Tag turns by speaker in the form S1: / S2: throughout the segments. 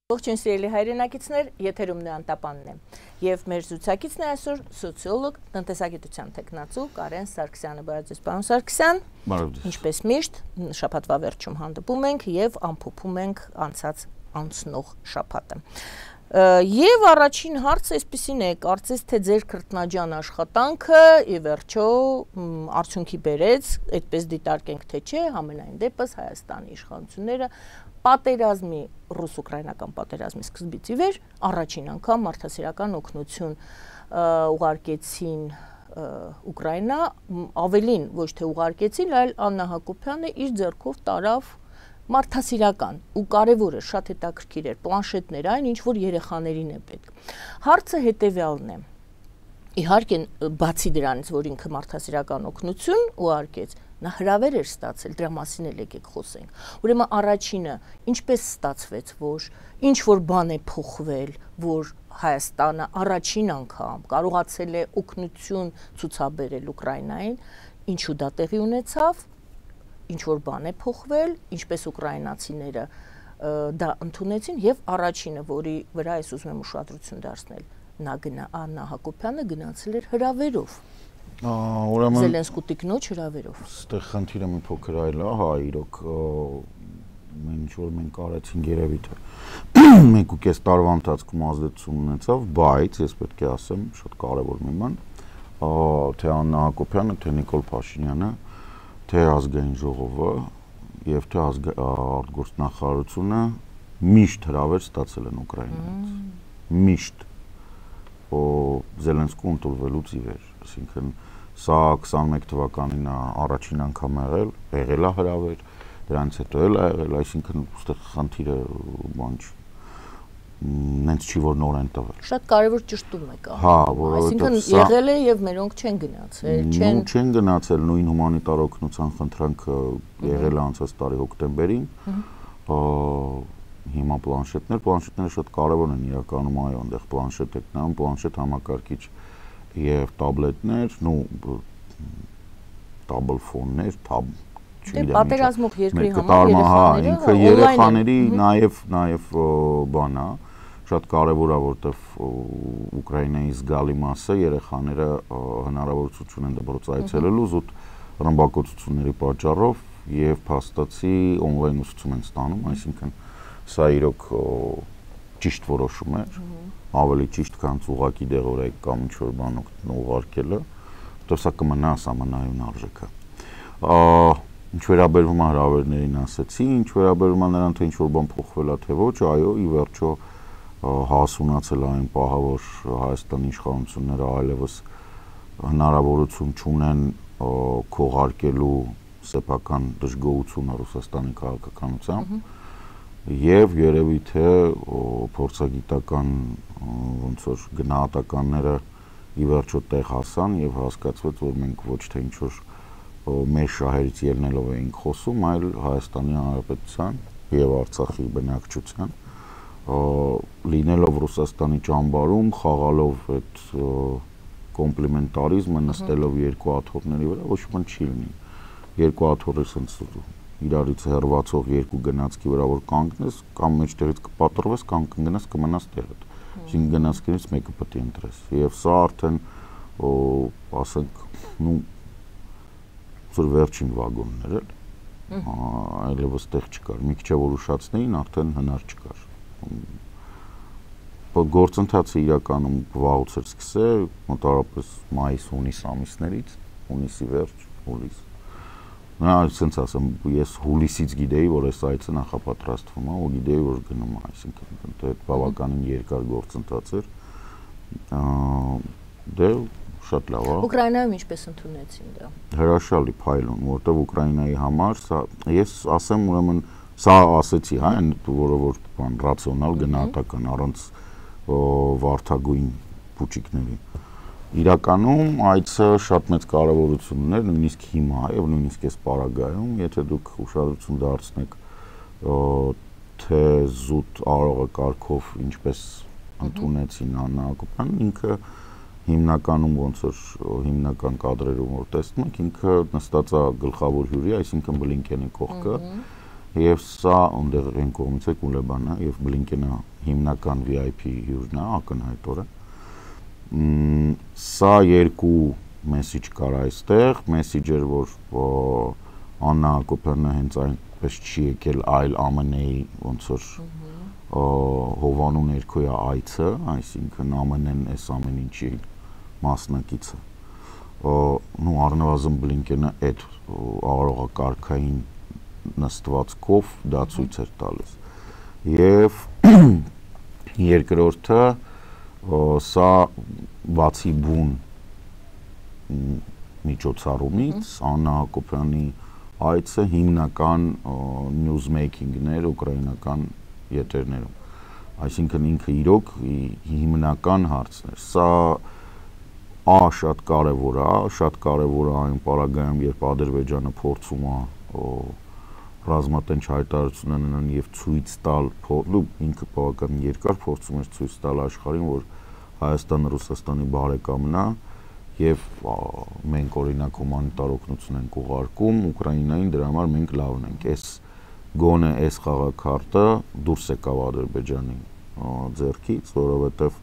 S1: Ողջույն սիրելի հայրենակիցներ, եթերում Անտապանն է եւ մեր զրուցակիցն է այսօր սոցիոլոգ, տնտեսագիտության տեխնացու Կարեն Սարգսյանը։ Բարև պարոն Սարգսյան։ Ինչպես միշտ, շաբաթվա վերջում հանդիպում ենք եւ ամփոփում ենք անցնող շաբաթը։ Եվ առաջին հարցը այսպեսին է, կարծես թե ձեր քրտնաջան աշխատանքը ի վերջո արդյունքի բերեց, այդպես դիտարկենք թե չէ, համենայն դեպս Հայաստանի իշխանությունները պատերազմի ռուս-ուկրաինական պատերազմի սկզբից ի վեր առաջին անգամ մարդասիրական օգնություն ուղարկեցին Ուկրաինա, ավելին ոչ թե ուղարկեցին, այլ Աննա Հակոբյանը իր ձեռքով տարավ մարդասիրական ու կարևորը շատ հետաքրքիր էր պլանշետներ այն, ինչ որ երեխաներին է պետք։ Հարցը հետևյալն է. իհարկե բացի դրանից, որ ինքը մարդասիրական օգնություն ուղարկեց, նա հրավեր էր ստացել, դրա մասին էլ եկեք խոսենք։ Ուրեմն առաջինը, ինչպես ստացվեց, որ ինչ որ բան է փոխվել, որ Հայաստանը առաջին անգամ կարողացել է օգնություն ցուցաբերել Ուկրաինային, ինչու դա տեղի ունեցավ, ինչ որ բան է փոխվել, ինչպես ուկրաինացիները դա ընդունեցին եւ առաջինը, որի վրա ես ուզում եմ ուշադրություն դարձնել, Աննա Հակոբյանը գնացել էր հրավերով։ Զելենսկու տիկնոջ հրավերով։
S2: Այստեղ խնդիրը մի փոքր այլ է, հա, իրոք ինչ որ մենք արեցինք երևի թե 1.5 տարվա ընթացքում ազդեցություն ունեցավ, բայց ես պետք է ասեմ շատ կարևոր մի բան, թե Աննա Հակոբյանը, թե Նիկոլ Փաշինյանը, թե ազգային ժողովը եւ թե արտգործնախարարությունը միշտ հրավեր ստացել են Ուկրաինայից։ Միշտ Զելենսկու ընդունվելուց ի վեր, այսինքն սա 21 թվականին առաջին անգամ եղել է հրավեր, դրանից հետո էլ է եղել, այսինքն ուստեղ խնդիրը բան չի, նենց չի որ նոր են տվել։
S1: Շատ կարևոր ճշտում եք անում։
S2: Հա, որովհետեւ
S1: այսինքն եղել է եւ մերոնք չեն գնացել,
S2: չեն գնացել, նույն հումանիտար օգնության խնդրանքը եղել է անցած տարի հոկտեմբերին, հիմա պլանշետները շատ կարևոր են իրականում, այո, այնտեղ պլանշետ եք նայում, պլանշետ համակարգիչ եւ տաբլետներ, տաբլ ֆոններ,
S1: պատերազմող երկրի համար
S2: երեխաների նաեւ բան է, շատ կարևոր է, որտեվ Ուկրաինայի զգալի մասը երեխաները հնարավորություն են դպրոց այցելելու զուտ ռմբակոծությունների պատճառով եւ փաստացի on-line ուսուցում են ստանում, այսինքն սա իրոք ճիշտ որոշում էր, ավելի ճիշտ, քան ուղղակի դեղորայք կամ ինչ-որ բան ուղարկելը, որտեղ սա կմնա համանայուն արժեքը։ Ինչ վերաբերում է հրավերներին ասեցի, ինչ վերաբերում է նրան, թե ինչ-որ բան փոխվել է, թե ոչ, այո, ի վերջո հասունացել այն պահը, որ Հայաստանի իշխանությունները այլևս հնարավորություն չունեն քողարկելու սեփական դժգոհությունը Ռուսաստանի քաղաքականությամբ եւ երևի թե փորձագիտական ոնց որ գնահատականները ի վերջո տեղ հասան եւ հասկացվեց, որ մենք ոչ թե ինչ որ մեր շահերից ելնելով էինք խոսում, այլ Հայաստանի Հանրապետության եւ Արցախի բնակչության լինելով Ռուսաստանի ճամբարում, խաղալով այդ կոմպլիմենտարիզմը, նստելով երկու աթոռների վրա, ոչ ոք չի լինի։ Երկու աթոռը sense իրարից հեռացող երկու գնացքի վրա որ կանգնես, կամ մեջտեղից կպատրվես, կամ կգնաս կմնաս տեղդ։ Այսինքն գնացքներից մեկը պետք է ընտրես։ Եվ սա արդեն ասենք, ծուր վերջին վագոններ էլ, այլևս տեղ չկար։ Մի քիչ որ ուշացնեին, արդեն հնար չկար։ Գործընթացը իրականում վաղուց էր սկսել, մոտավորապես մայիս-հունիս ամիսներից, հունիսի վերջ, հուլիս։ Նա ասենց ասեմ, ես հուլիսից գիտեի, որ այս այցը նախապատրաստվում է, ու գիտեի, որ գնում է, այսինքն դա բավականին երկար գործընթաց էր։ Դե շատ լավ է։
S1: Ուկրաինայում ինչպես ընդունեցին դա։
S2: Հրաշալի փայլուն, որտեղ Ուկրաինայի համար սա ես ասեմ, ուրեմն սա ասեցի, հա, որը որ բան ռացիոնալ գնահատական առանց վարդագույն փուչիկների։ Իրականում այցը շատ մեծ կարևորություն ուներ, նույնիսկ հիմա եւ նույնիսկ այս պարագայում, եթե դուք ուշադրություն դարձնեք թե զուտ արարողակարգով ինչպես ընդունեցին Աննա Հակոբյանն, ինքը հիմնականում ոնց որ հիմնական կադրերում որ տեսնում եք, ինքը նստած է գլխավոր հյուրի, այսինքն Բլինկենի կողքը եւ սա այնտեղ այն կողմից է Կուլեբանը եւ Բլինկենը հիմնական VIP հյուրն է ակնհայտորը սա երկու մեսեջ կար այստեղ մեսեջեր որ Աննա Հակոբյանը հենց այնպես չի եկել այլ ԱՄՆ-ի ոնց որ հովանու ներքոյա այցը այսինքն ԱՄՆ-ն այս ամեն ինչի մասնակիցը նու առնվազն Բլինկենը այդ արարողակարգային նստվածքով դա ցույց էր տալիս եւ երկրորդը սա բացի բուն միջոցառումից Աննա Հակոբյանի այցը հիմնական news making-ներ ուկրաինական եթերներում այսինքն ինքը իրոք հիմնական հարցներ սա շատ կարևոր է այն պարագայում երբ Ադրբեջանը փորձում է ռազմատենչ հայտարարություն անեն եւ ցույց տալ ինքը բավական երկար փորձում էր ցույց տալ աշխարհին որ Հայաստանը Ռուսաստանի բարեկամն է եւ մենք օրինակ հումանիտար օգնություն ենք ուղարկում Ուկրաինային դրա համար մենք լավն ենք այս գոնե այս խաղակարտը դուրս եկավ Ադրբեջանի ձեռքից որովհետեւ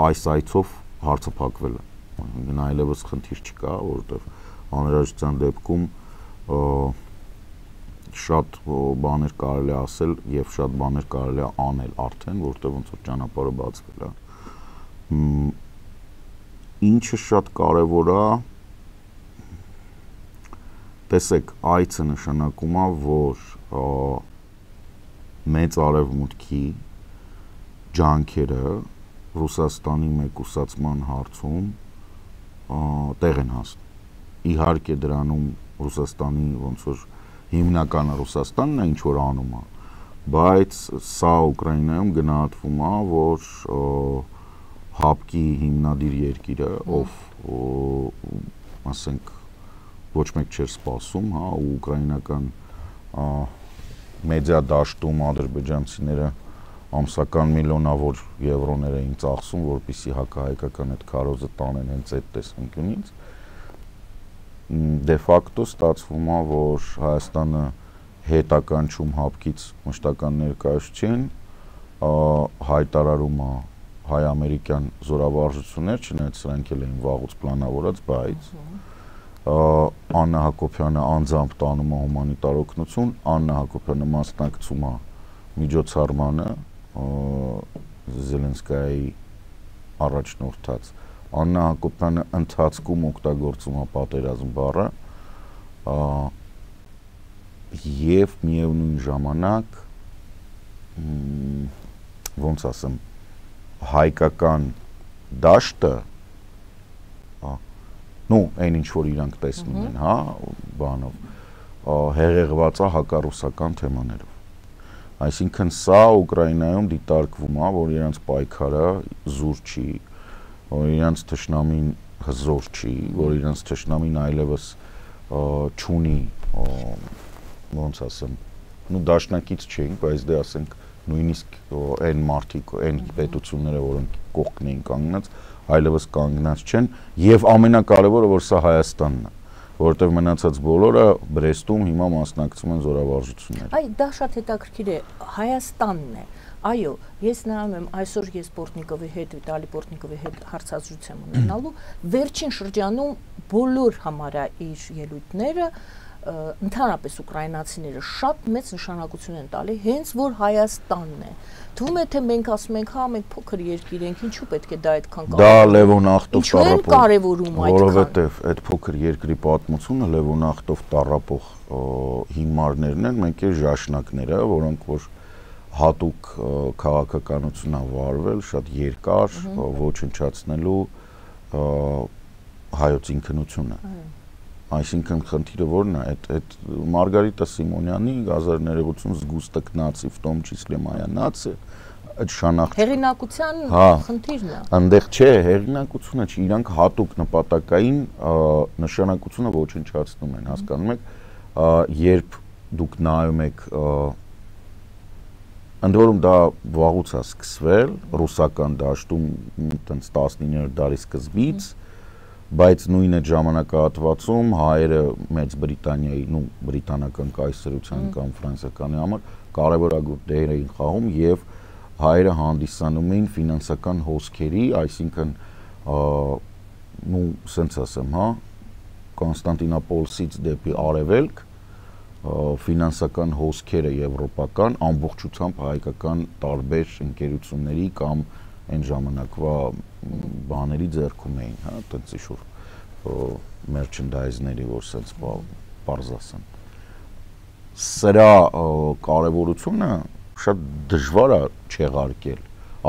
S2: այս այցով հարցը փակվել է այլևս խնդիր չկա որովհետեւ անհրաժեշտության դեպքում շատ բաներ կարելի ասել եւ շատ բաներ կարելի անել արդեն որտեղ ոնց որ ճանապարհը բացվել է ինչը շատ կարեւոր է տեսեք այցը նշանակում է որ մեծ արևմուտքի ջանքերը Ռուսաստանի մեկուսացման հարցում տեղ են հասնում իհարկե դրանում Ռուսաստանի ոնց որ հիմնականը Ռուսաստանն է ինչ որ անում է բայց սա Ուկրաինայում գնահատվում է որ հապկի հիմնադիր երկիրը ով ասենք ոչ մեկ չէր սպասում հա ու ուկրաինական մեդիա դաշտում ադրբեջանցիները ամսական միլիոնավոր եվրոներ էին ծախսում որպեսզի հակահայկական այդ քարոզը տանեն հենց այդ տեսանկյունից դե ֆակտո ստացվում է որ Հայաստանը հետականչում հապկից մշտական ներկայացուցիչ հայտարարում է հայ-ամերիկյան զորավարժություններ չնայած սրանք էլ էին վաղուց պլանավորած բայց Աննա Հակոբյանը անձամբ տանում է հումանիտար օգնություն Աննա Հակոբյանը մասնակցում է միջոցառմանը Զելենսկայի առաջնորդած Աննա Հակոբյանը ընթացքում օգտագործում է պատերազմ բառը եւ միևնույն ժամանակ ոնց ասեմ հայկական դաշտը նու այն ինչ որ իրանք տեսնում են հա բանով հեղեղված է հակառուսական թեմաներով այսինքն սա Ուկրաինայում դիտարկվում է որ իրանց պայքարը զուր չի որ իրանց թշնամին հզոր չի որ իրանց թշնամին այլևս չունի ոնց ասեմ նու դաշնակից չենք բայց դե ասենք նույնիսկ այն մարդիկ այն պետությունները որոնք կողքն էին կանգնած այլևս կանգնած չեն եւ ամենակարևորը որ սա Հայաստանն է որովհետեւ մնացած բոլորը Բրեստում հիմա մասնակցում են զորավարժություններ
S1: այ դա շատ հետաքրքիր է Հայաստանն է այո ես նայում եմ այսօր ես Պորտնիկովի հետ Վիտալի Պորտնիկովի հետ հարցազրույց եմ ունենալու վերջին շրջանում բոլոր համարյա իր ելույթները ընդհանրապես ուկրաինացիները շատ մեծ նշանակություն են տալի հենց որ Հայաստանն է թվում է թե մենք ասում ենք հա մենք փոքր երկիր ենք ինչու պետք է դա այդքան
S2: դա Լևոնախտով
S1: կարևորում այդքան
S2: որովհետև այդ փոքր երկրի պատմությունը Լևոնախտով տառապող հիմարներն են մենք է ժաշնակները որոնք որ հատուկ քաղաքականություն ա վարվել շատ երկար ոչնչացնելու հայոց ինքնությունը այսինքն խնդիրը որն է այդ Մարգարիտա Սիմոնյանի 1080 զգուստок нации в том числе моя нация այդ շանախ
S1: հեղինակության խնդիրն է
S2: այնտեղ չէ հեղինակությունը չի իրանք հատուկ նպատակային նշանակությունը ոչնչացնում են հասկանում եք երբ դուք նայում եք ընդ որում դա վաղուց է սկսվել ռուսական դաշտում տենց 19-րդ դարի սկզբից բայց նույն այդ ժամանակահատվածում հայերը Մեծ Բրիտանիայի, բրիտանական կայսրության կամ ֆրանսիականի համար կարևորագույն դեր էին խաղում եւ հայերը հանդիսանում էին ֆինանսական հոսքերի, այսինքն սենց ասեմ, հա, Կոնստանտինոպոլից դեպի արևելք ֆինանսական հոսքերը եվրոպական ամբողջությամբ հայկական տարբեր ընկերությունների կամ այն ժամանակվա բաների ձեռքում էին, հա, այդպես ինչ-որ merchandise-ների, որ սենց պարզ ասեն։ Սրա կարևորությունը շատ դժվար է չեղարկել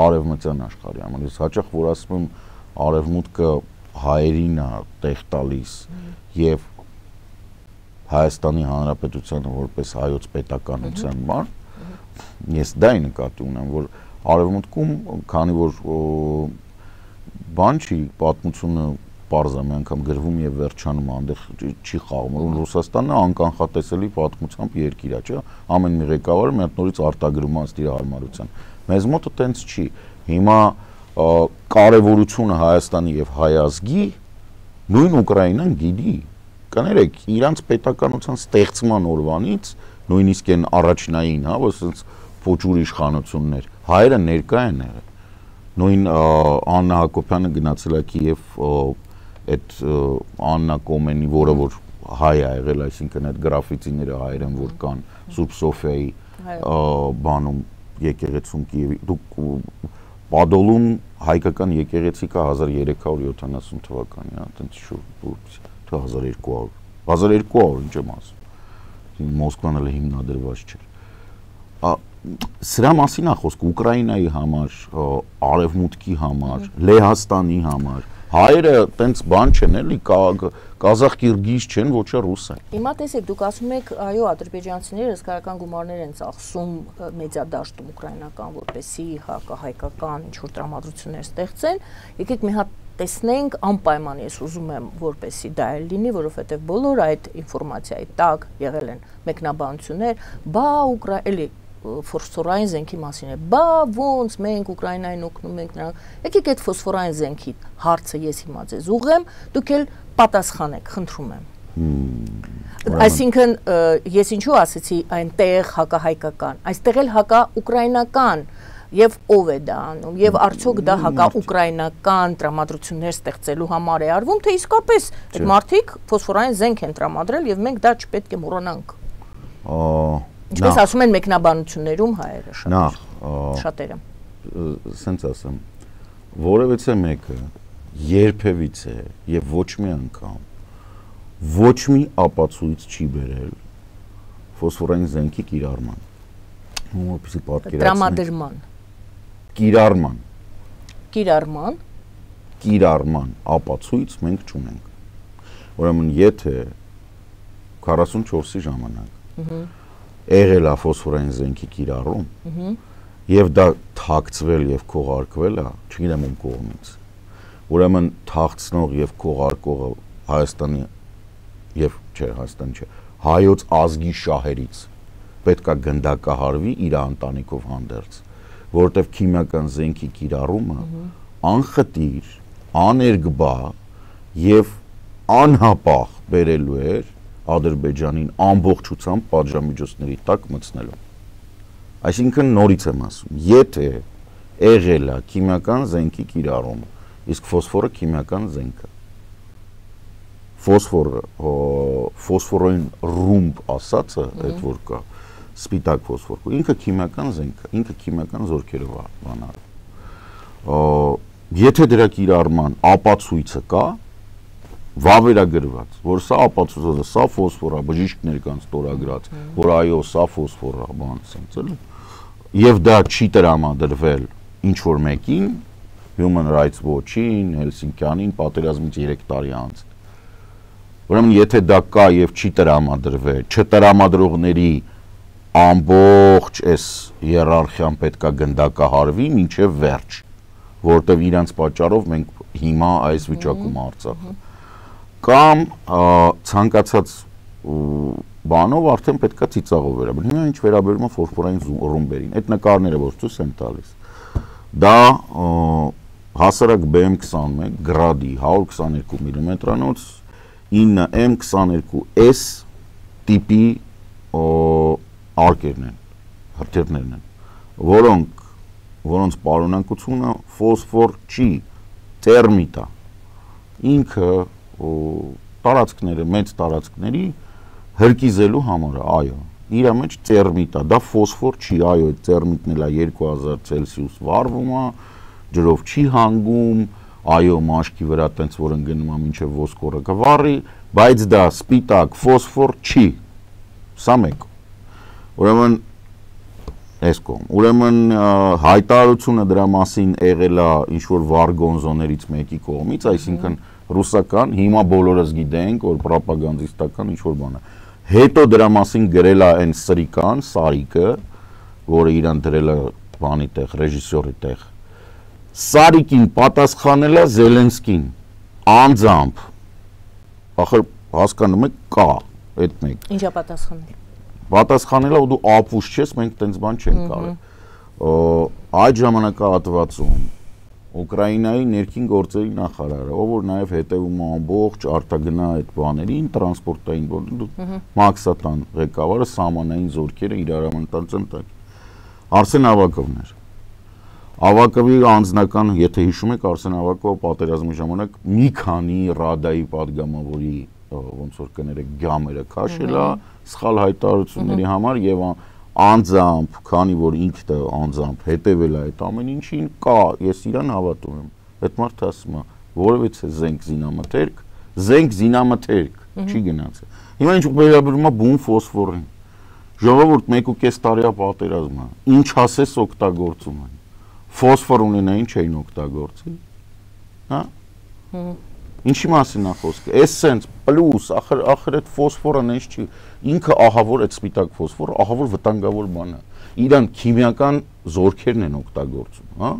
S2: արևմտյան աշխարհի համար։ Ես հաճախ որ ասում եմ արևմուտքը հայերին է տեղ տալիս եւ Հայաստանի Հանրապետությանը որպես հայոց պետականության բան, ես դա նկատի ունեմ, որ արևմուտքում, քանի որ բան չի, պատմությունը պարզ է, մի անգամ գրվում եւ վերջանում, այնտեղ չի խաղում, որ Ռուսաստանը անկանխատեսելի պատմությամբ երկիր է, չէ՞, ամեն մի ղեկավարը մի հատ նորից արտագրում է իր հարմարության։ Մեզ մոտ այտենց չի։ Հիմա կարևորությունը Հայաստանի եւ հայ ազգի նույն Ուկրաինան գիտի, կներեք, իրանց պետականության ստեղծման օրվանից, նույնիսկ այն առաջնային, հա, որ ասենց փոճուր իշխանություններ, հայերը ներկա են եղել։ Նույն Աննա Հակոբյանը գնացել է Կիև այդ Աննա Կոմենի, որը որ հայ է եղել, այսինքն այդ գրաֆիտիները հայեր են, որ կան Սուրբ Սոֆիայի բանում եկեղեցում Կիևի։ Դուք Պադոլում հայկական եկեղեցի կա 1370 թվականի, հա, այդպես շուտ 1200 ինչ եմ ասում, Մոսկվան էլ հիմնադրված չէր։ Սրա մասին է խոսքը Ուկրաինայի համար, Արևմուտքի համար, Լեհաստանի համար, հայերը տենց բան չեն էլի, կազախ-կիրգիզ չեն, ոչ է ռուս են։
S1: Հիմա տեսեք, դուք ասում եք, այո, ադրբեջանցիները հսկայական գումարներ են ծախսում մեդիադաշտում ուկրաինական, որպեսզի հակահայկական ինչ-որ տրամադրություններ ստեղծեն, եկեք մի հատ տեսնենք անպայման ես ուզում եմ որպեսի դա էլ լինի, որովհետև բոլոր այդ ինֆորմացիայի տակ եղել են մեկնաբանություններ, բա էլի ֆոսֆորային զենքի մասին է, բա ոնց մենք Ուկրաինային օգնում ենք նրանք, եկեք այդ ֆոսֆորային զենքի հարցը ես հիմա ձեզ ուղղեմ, դուք էլ պատասխանեք, խնդրում եմ։ Այսինքն ես ինչու ասեցի այնտեղ հակահայկական, այստեղ էլ հակաուկրաինական Եվ ով է դա անում, եւ արդյոք դա հակաուկրաինական տրամադրություններ ստեղծելու համար է արվում, թե իսկապես այդ մարդիկ ֆոսֆորային զենք են տրամադրել եւ մենք դա չպետք է մոռանանք։ Ինչպես ասում են մեկնաբանություններում հայերը շատերը։
S2: Սենց ասեմ, որևիցե մեկը երբևիցե եւ ոչ մի անգամ ոչ մի ապացույց չի բերել ֆոսֆորային զենքի կիրառման։ Որպեսզի պատկերացնենք։
S1: Տրամադրման
S2: Կիրառման ապացույց մենք չունենք։ Ուրեմն եթե 44-ի ժամանակ եղել է ֆոսֆորային զենքի կիրառում եւ դա թաքցվել եւ քողարկվել է, չգիտեմ ում կողմից։ Ուրեմն թաքցնող եւ քողարկողը Հայաստանի եւ Հայաստանի չէ, հայոց ազգի շահերից պետքա գնդակահարվի իր ընտանիքով հանդերձ, որովհետև քիմիական զենքի կիրառումը անխտիր, աներկբա եւ անհապաղ բերելու էր Ադրբեջանին ամբողջությամբ պատժամիջոցների տակ մտցնելու։ Այսինքն նորից եմ ասում, եթե եղել է քիմիական զենքի կիրառումը, իսկ ֆոսֆորը քիմիական զենք է։ Ֆոսֆորային ռումբ ասածը, այդ որ կա, սպիտակ ֆոսֆոր, ինքը քիմիական զենք է, ինքը քիմիական զորքերով է բանալու։ Եթե դրա կիրառման ապացույցը կա, վավերագրված, որ սա ապացույցը, սա ֆոսֆոր է, բժիշկներ կան ստորագրած, որ այո, սա ֆոսֆոր է, բան սենց էլի, եւ դա չի տրամադրվել ինչ որ մեկին, Human Rights Watch-ին, Հելսինկյանին, պատերազմից 3 տարի անց։ Ուրեմն եթե դա կա եւ չի տրամադրվել, չտրամադրողների ամբողջ այս հիերարխիան պետքա գնդակահարվի մինչև վերջ, որտեղ իրանց պատճառով մենք հիմա այս վիճակում Արցախը կամ ցանկացած բանով արդեն պետքա ծիծաղով վերաբերել։ Հիմա ինչ վերաբերում է ֆոսֆորային ռումբերին, այդ նկարները որ ցույց են տալիս, դա հասարակ BM21 գրադի 122 մմ-անոց 9 M22S տիպի արկերն են, հրթիռներն են, որոնց պարունակությունը ֆոսֆոր չի, տերմիտ է, ինքը տարածքները, մեծ տարածքների հրկիզելու համար է, այո, իր մեջ տերմիտ է, դա ֆոսֆոր չի, այո, այդ տերմիտն էլ է 2000 Ցելսիուս վառվում է, ջրով չի հանգում, այո, մաշկի վրա տենց որ ընկնում է մինչև ոսկորը կվառի, բայց դա սպիտակ ֆոսֆոր չի, սա մեկ, ուրեմն Ուրեմն հայտարարությունը դրա մասին եղել է ինչ-որ վարգոնզոներից մեկի կողմից, այսինքն ռուսական, հիմա բոլորս գիտենք, որ պրոպագանդիստական ինչ-որ բան է։ Հետո դրա մասին գրել է այն սրիկան, Սարիկը, որը իրան դրել է բանի տեղ, ռեժիսորի տեղ։ Սարիկին պատասխանել է Զելենսկին, անձամբ։ Ախր հասկանում եք, կա այդ մեկ։
S1: Ինչա պատասխանել։
S2: Պատասխանել է ու դու ապուշ չես, մենք տենց բան չենք կարել։ Այդ ժամանակահատվածում Ուկրաինայի ներքին գործերի նախարարը, ով որ նաև հետևում է ամբողջ արտագնա այդ բաներին, տրանսպորտային բաներին, Մաքսատան ղեկավարը սահմանային զորքերը իրարամտան ծնտակ։ Արսեն Ավակովն էր։ Ավակովի անձնական, եթե հիշում եք, Արսեն Ավակովը պատերազմի ժամանակ մի քանի ռադայի падգամավորի ոնց որ կներեք գամերը քաշել է սխալ հայտարարությունների համար եւ անձամբ, քանի որ ինքը անձամբ հետևել է այդ ամեն ինչին, կա, ես իրան հավատում եմ։ Այդ մարդը ասում է, որովհետեւ զենք զինամթերք, չի գնացել։ Հիմա ինչ վերաբերում է բուն ֆոսֆորին։ Ժողովուրդ 1.5 տարի է պատերազմը։ Ինչ ասես օգտագործում են։ Ֆոսֆոր ունենային չէին օգտագործի։ Հա։ Ինչի մասին է խոսքը։ Էսենց պլյուս, ախր այդ ֆոսֆորը նենց չի։ Ինքը ահավոր այդ սպիտակ ֆոսֆորը, ահավոր վտանգավոր բան է։ Իրան քիմիական զորքերն են օգտագործում, հա։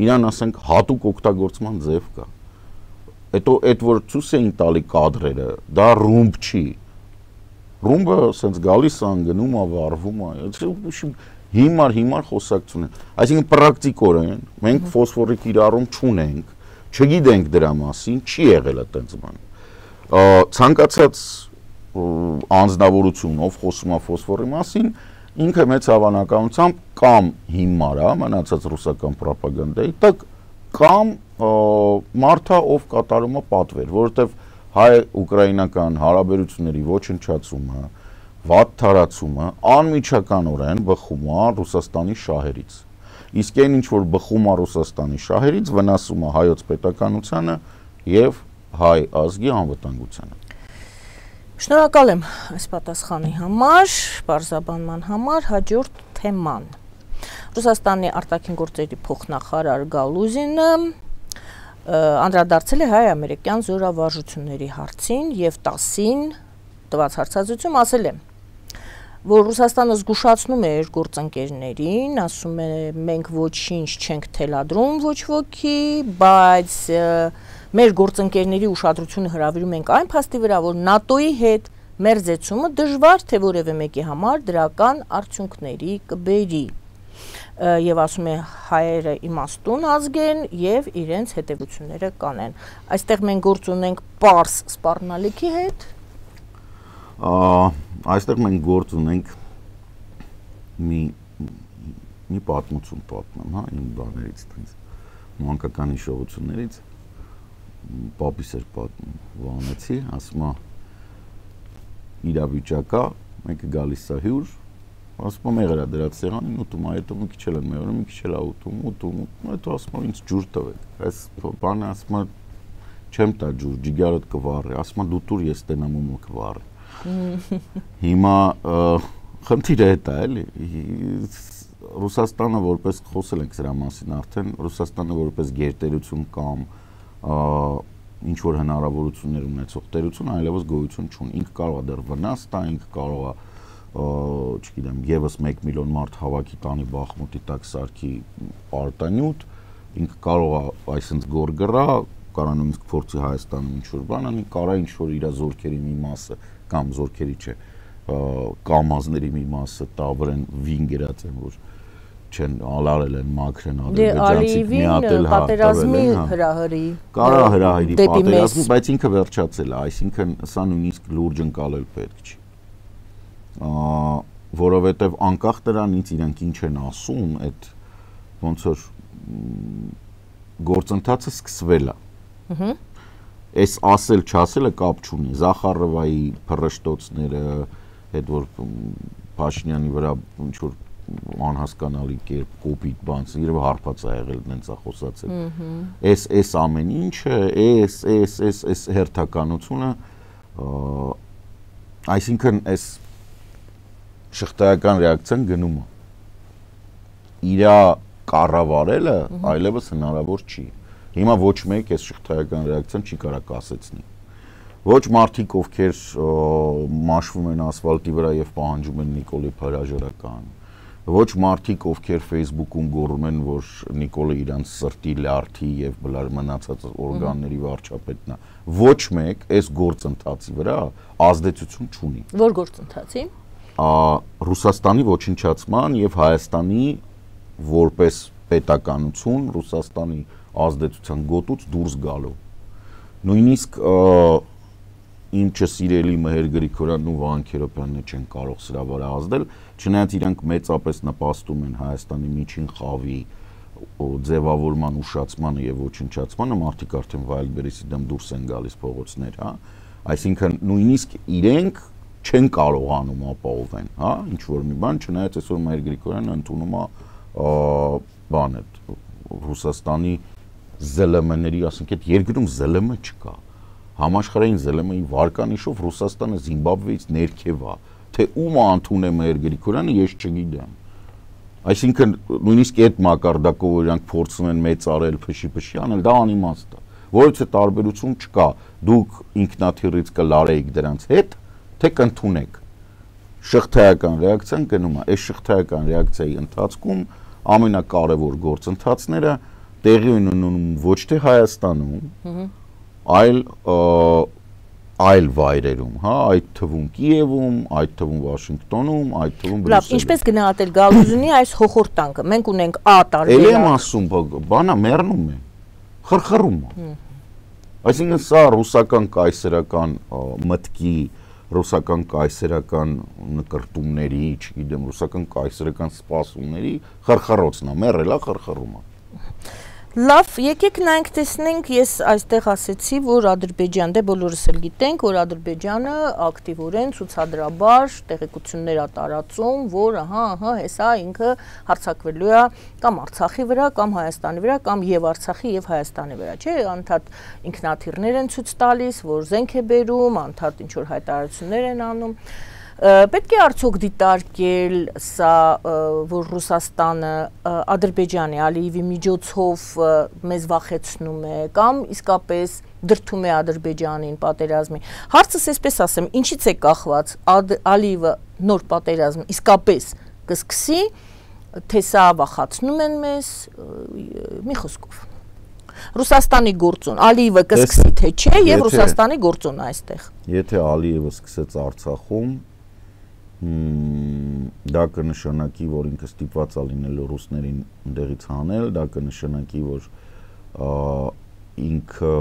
S2: Իրան ասենք հատուկ օգտագործման ձև կա։ Հետո այդ որ ցույց էին տալի կադրերը, դա ռումբ չի։ Ռումբը ասենց գալիս է, գնում է, վառվում է։ Հիմար խոսակցություն է։ Այսինքն պրակտիկորեն մենք ֆոսֆորի կիրառում չունենք, չգիտենք դրա մասին, չի եղել այդպես բան։ Ցանկացած անձնավորություն, ով խոսում է ֆոսֆորի մասին, ինքը մեծ հավանականությամբ կամ հիմար է, մնացած ռուսական պրոպագանդայի տակ, կամ մարդը, ով կատարում է պատվեր, որովհետև հայ-ուկրաինական հարաբերությունների ոչնչացումը, վատ թարացումը անմիջականորեն բխում է Ռուսաստանի շահերից։ Իսկ այն ինչ որ բխում է Ռուսաստանի շահերից, վնասում է հայոց պետականությանը եւ հայ ազգի անվտանգությանը։
S1: Շնորհակալ եմ այս պատասխանի համար, բարձրաբանման համար, հաջորդ թեման։ Ռուսաստանի արտաքին գործերի փոխնախարար Գալուզինը անդրադարձել է հայ-ամերիկյան զորավարժությունների հարցին եւ 10-ին տված հարցազրույցում ասել է, որ Ռուսաստանը զգուշացնում է իր գործընկերներին, ասում է մենք ոչինչ չենք թելադրում ոչ ոքի, բայց մեր գործընկերների ուշադրությունը հրավիրում ենք այն փաստի վրա, որ ՆԱՏՕ-ի հետ մերձեցումը դժվար թե որևէ մեկի համար դրական արդյունքների կբերի։ Եվ ասում է հայերը իմաստուն ազգ են եւ իրենց հետևությունները կանեն։ Այստեղ մենք գործ ունենք պարս սպառնալիքի հետ։
S2: Այստեղ մենք գործ ունենք մի պատմություն պատմեմ, հա, իմ բաներից, մանկական հիշողություններից, պապիս էր պատմում, Վանեցի, ասում է իրավիճակա, մեկը գալիս է հյուր, ասում է մեղր է դրած սեղանին, ուտում է, հետո մի քիչ էլ են մեղրում, մի քիչ էլ է ուտում, հետո ասում է ինձ ջուր տվեք, այս բանը ասում է չեմ տա ջուր, ջիգարդ կվառի, ասում է դու տուր ես տենամ ու կվառի։ Հիմա խնդիրը հետ է, էլի, Ռուսաստանը որպես խոսել ենք սրա մասին արդեն, Ռուսաստանը որպես գերտերություն կամ ինչ որ հնարավորություններ ունեցող տերություն այլևս գոյություն չունի, ինքը կարող է դեռ վնաս տա, ինքը կարող է, չգիտեմ, եւս 1 միլիոն մարդ հավաքի տանի Բախմուտի տակ սարքի արտանյութ, ինքը կարող է այսպես գոր գրա, կարող նույնիսկ փորձի Հայաստանում ինչ որ բան անի, կարող ինչ որ իր զորքերի մի մասը կամ զորքերի չէ, կամազների մի մասը տա վրան վինգերած են, որ չեն ալարել են մաքրեն ադրբեջանցիք միատել
S1: պատերազմի հրահրի
S2: կարա հրահրի պատերազմի բայց ինքը վերջացել է այսինքն սա նույնիսկ լուրջ ընկալել պետք չի որովհետև անկախ դրանից իրանք ինչ են ասում այդ ոնց որ գործընթացը սկսվել է այս ասել չասելը կապ չունի Զախարովայի փռշտոցները այդ որ Փաշինյանի վրա ինչ որ անհասկանալի կերպ կոպիտ բան իրավ հարբած է եղել նենց է խոսացել այս ամեն ինչը այս հերթականությունը այսինքն այս շղթայական ռեակցիան գնում է իրա կառավարելը այլևս հնարավոր չի հիմա ոչ մեկ այս շղթայական ռեակցիան չի կարող կասեցնի ոչ մարդիկ ովքեր մաշվում են ասֆալտի վրա եւ պահանջում են Նիկոլի հրաժարական ոչ մարդիկ ովքեր Facebook-ում գոռում են որ Նիկոլը իրանց սրտի լարթի եւ բլար մնացած օրգանների վարչապետն է ոչ մեկ այս գործընթացի վրա ազդեցություն չունի
S1: որ գործընթացի
S2: Ռուսաստանի ոչնչացման եւ Հայաստանի որպես պետականություն Ռուսաստանի ազդեցության գոտուց դուրս գալու նույնիսկ իմ չսիրելի Մհեր Գրիգորյանն ու Վահան Քերոբյանն չեն կարող սրա վրա ազդել չնայած իրանք մեծապես նպաստում են Հայաստանի միջին խավի ձևավորման ուշացմանը եւ ոչնչացմանը մարդիկ արդեն Վայելբերիսի դեմ դուրս են գալիս փողոցներ հա այսինքն նույնիսկ իրենք չեն կարողանում ապահովեն հա ինչ որ մի բան չնայած այսօր Մհեր Գրիգորյանը ընդունում է բան է Ռուսաստանի ԶԼՄ-ների ասենք այդ երկրում ԶԼՄ չկա համաշխարհային ԶԼՄ-ի վարկանիշով Ռուսաստանը Զիմբաբվեից ներքև է թե ում ընդունում է Մհեր Գրիգորյանը ես չգիտեմ այսինքն նույնիսկ այդ մակարդակով իրանք փորձում են մեծարել փշի անել դա անիմաստ է որից է տարբերություն չկա դուք ինքնաթիռից կլարեիք դրանց հետ թե կընդունեք շղթայական ռեակցիան գնում է այս շղթայական ռեակցիայի ընթացքում ամենակարևոր գործընթացները տեղի ունենում ոչ թե Հայաստանում այլ վայրերում հա այդ թվում Կիևում այդ թվում Վաշինգտոնում այդ թվում
S1: Բրուսելում լավ ինչպես գնահատել Գալուզյանի այս հոխորտանքը մենք ունենք A տարբերակ
S2: Էլի եմ ասում բանա մեռնում է խրխռում է այսինքն սա ռուսական կայսերական մտքի ռուսական կայսերական նկրտումների, չգիտեմ, ռուսական կայսերական սպասումների խրխռոցն է, մեռելա խրխռում է։
S1: Լավ, եկեք նայենք տեսնենք, ես այստեղ ասեցի, որ Ադրբեջան, դե բոլորս էլ գիտենք, որ Ադրբեջանը ակտիվորեն ցուցադրաբար տեղեկություններ է տարածում, որ հեսա ինքը հարձակվելու է կամ Արցախի վրա, կամ Հայաստանի վրա, կամ եւ Արցախի եւ Հայաստանի վրա, չէ՞, անդադ ինքնաթիռներ են ցույց տալիս, որ զենք է բերում, անդադ ինչ որ հայտարարություններ են անում։ Պետք է արդյոք դիտարկել սա, որ Ռուսաստանը Ադրբեջանի Ալիևի միջոցով մեզ վախեցնում է կամ իսկապես դրդում է Ադրբեջանին պատերազմի։ Հարցս այսպես ասեմ, ինչից է կախված Ալիևը նոր պատերազմ իսկապես կսկսի, թե սա վախացնում են մեզ, մի խոսքով։ Ռուսաստանի գործոն, Ալիևը կսկսի թե չէ եւ Ռուսաստանի գործոնը այստեղ։
S2: Եթե Ալիևը սկսեց Արցախում դա կնշանակի, որ ինքը ստիպված է լինելու ռուսներին ընդեղից հանել, դա կնշանակի, որ ինքը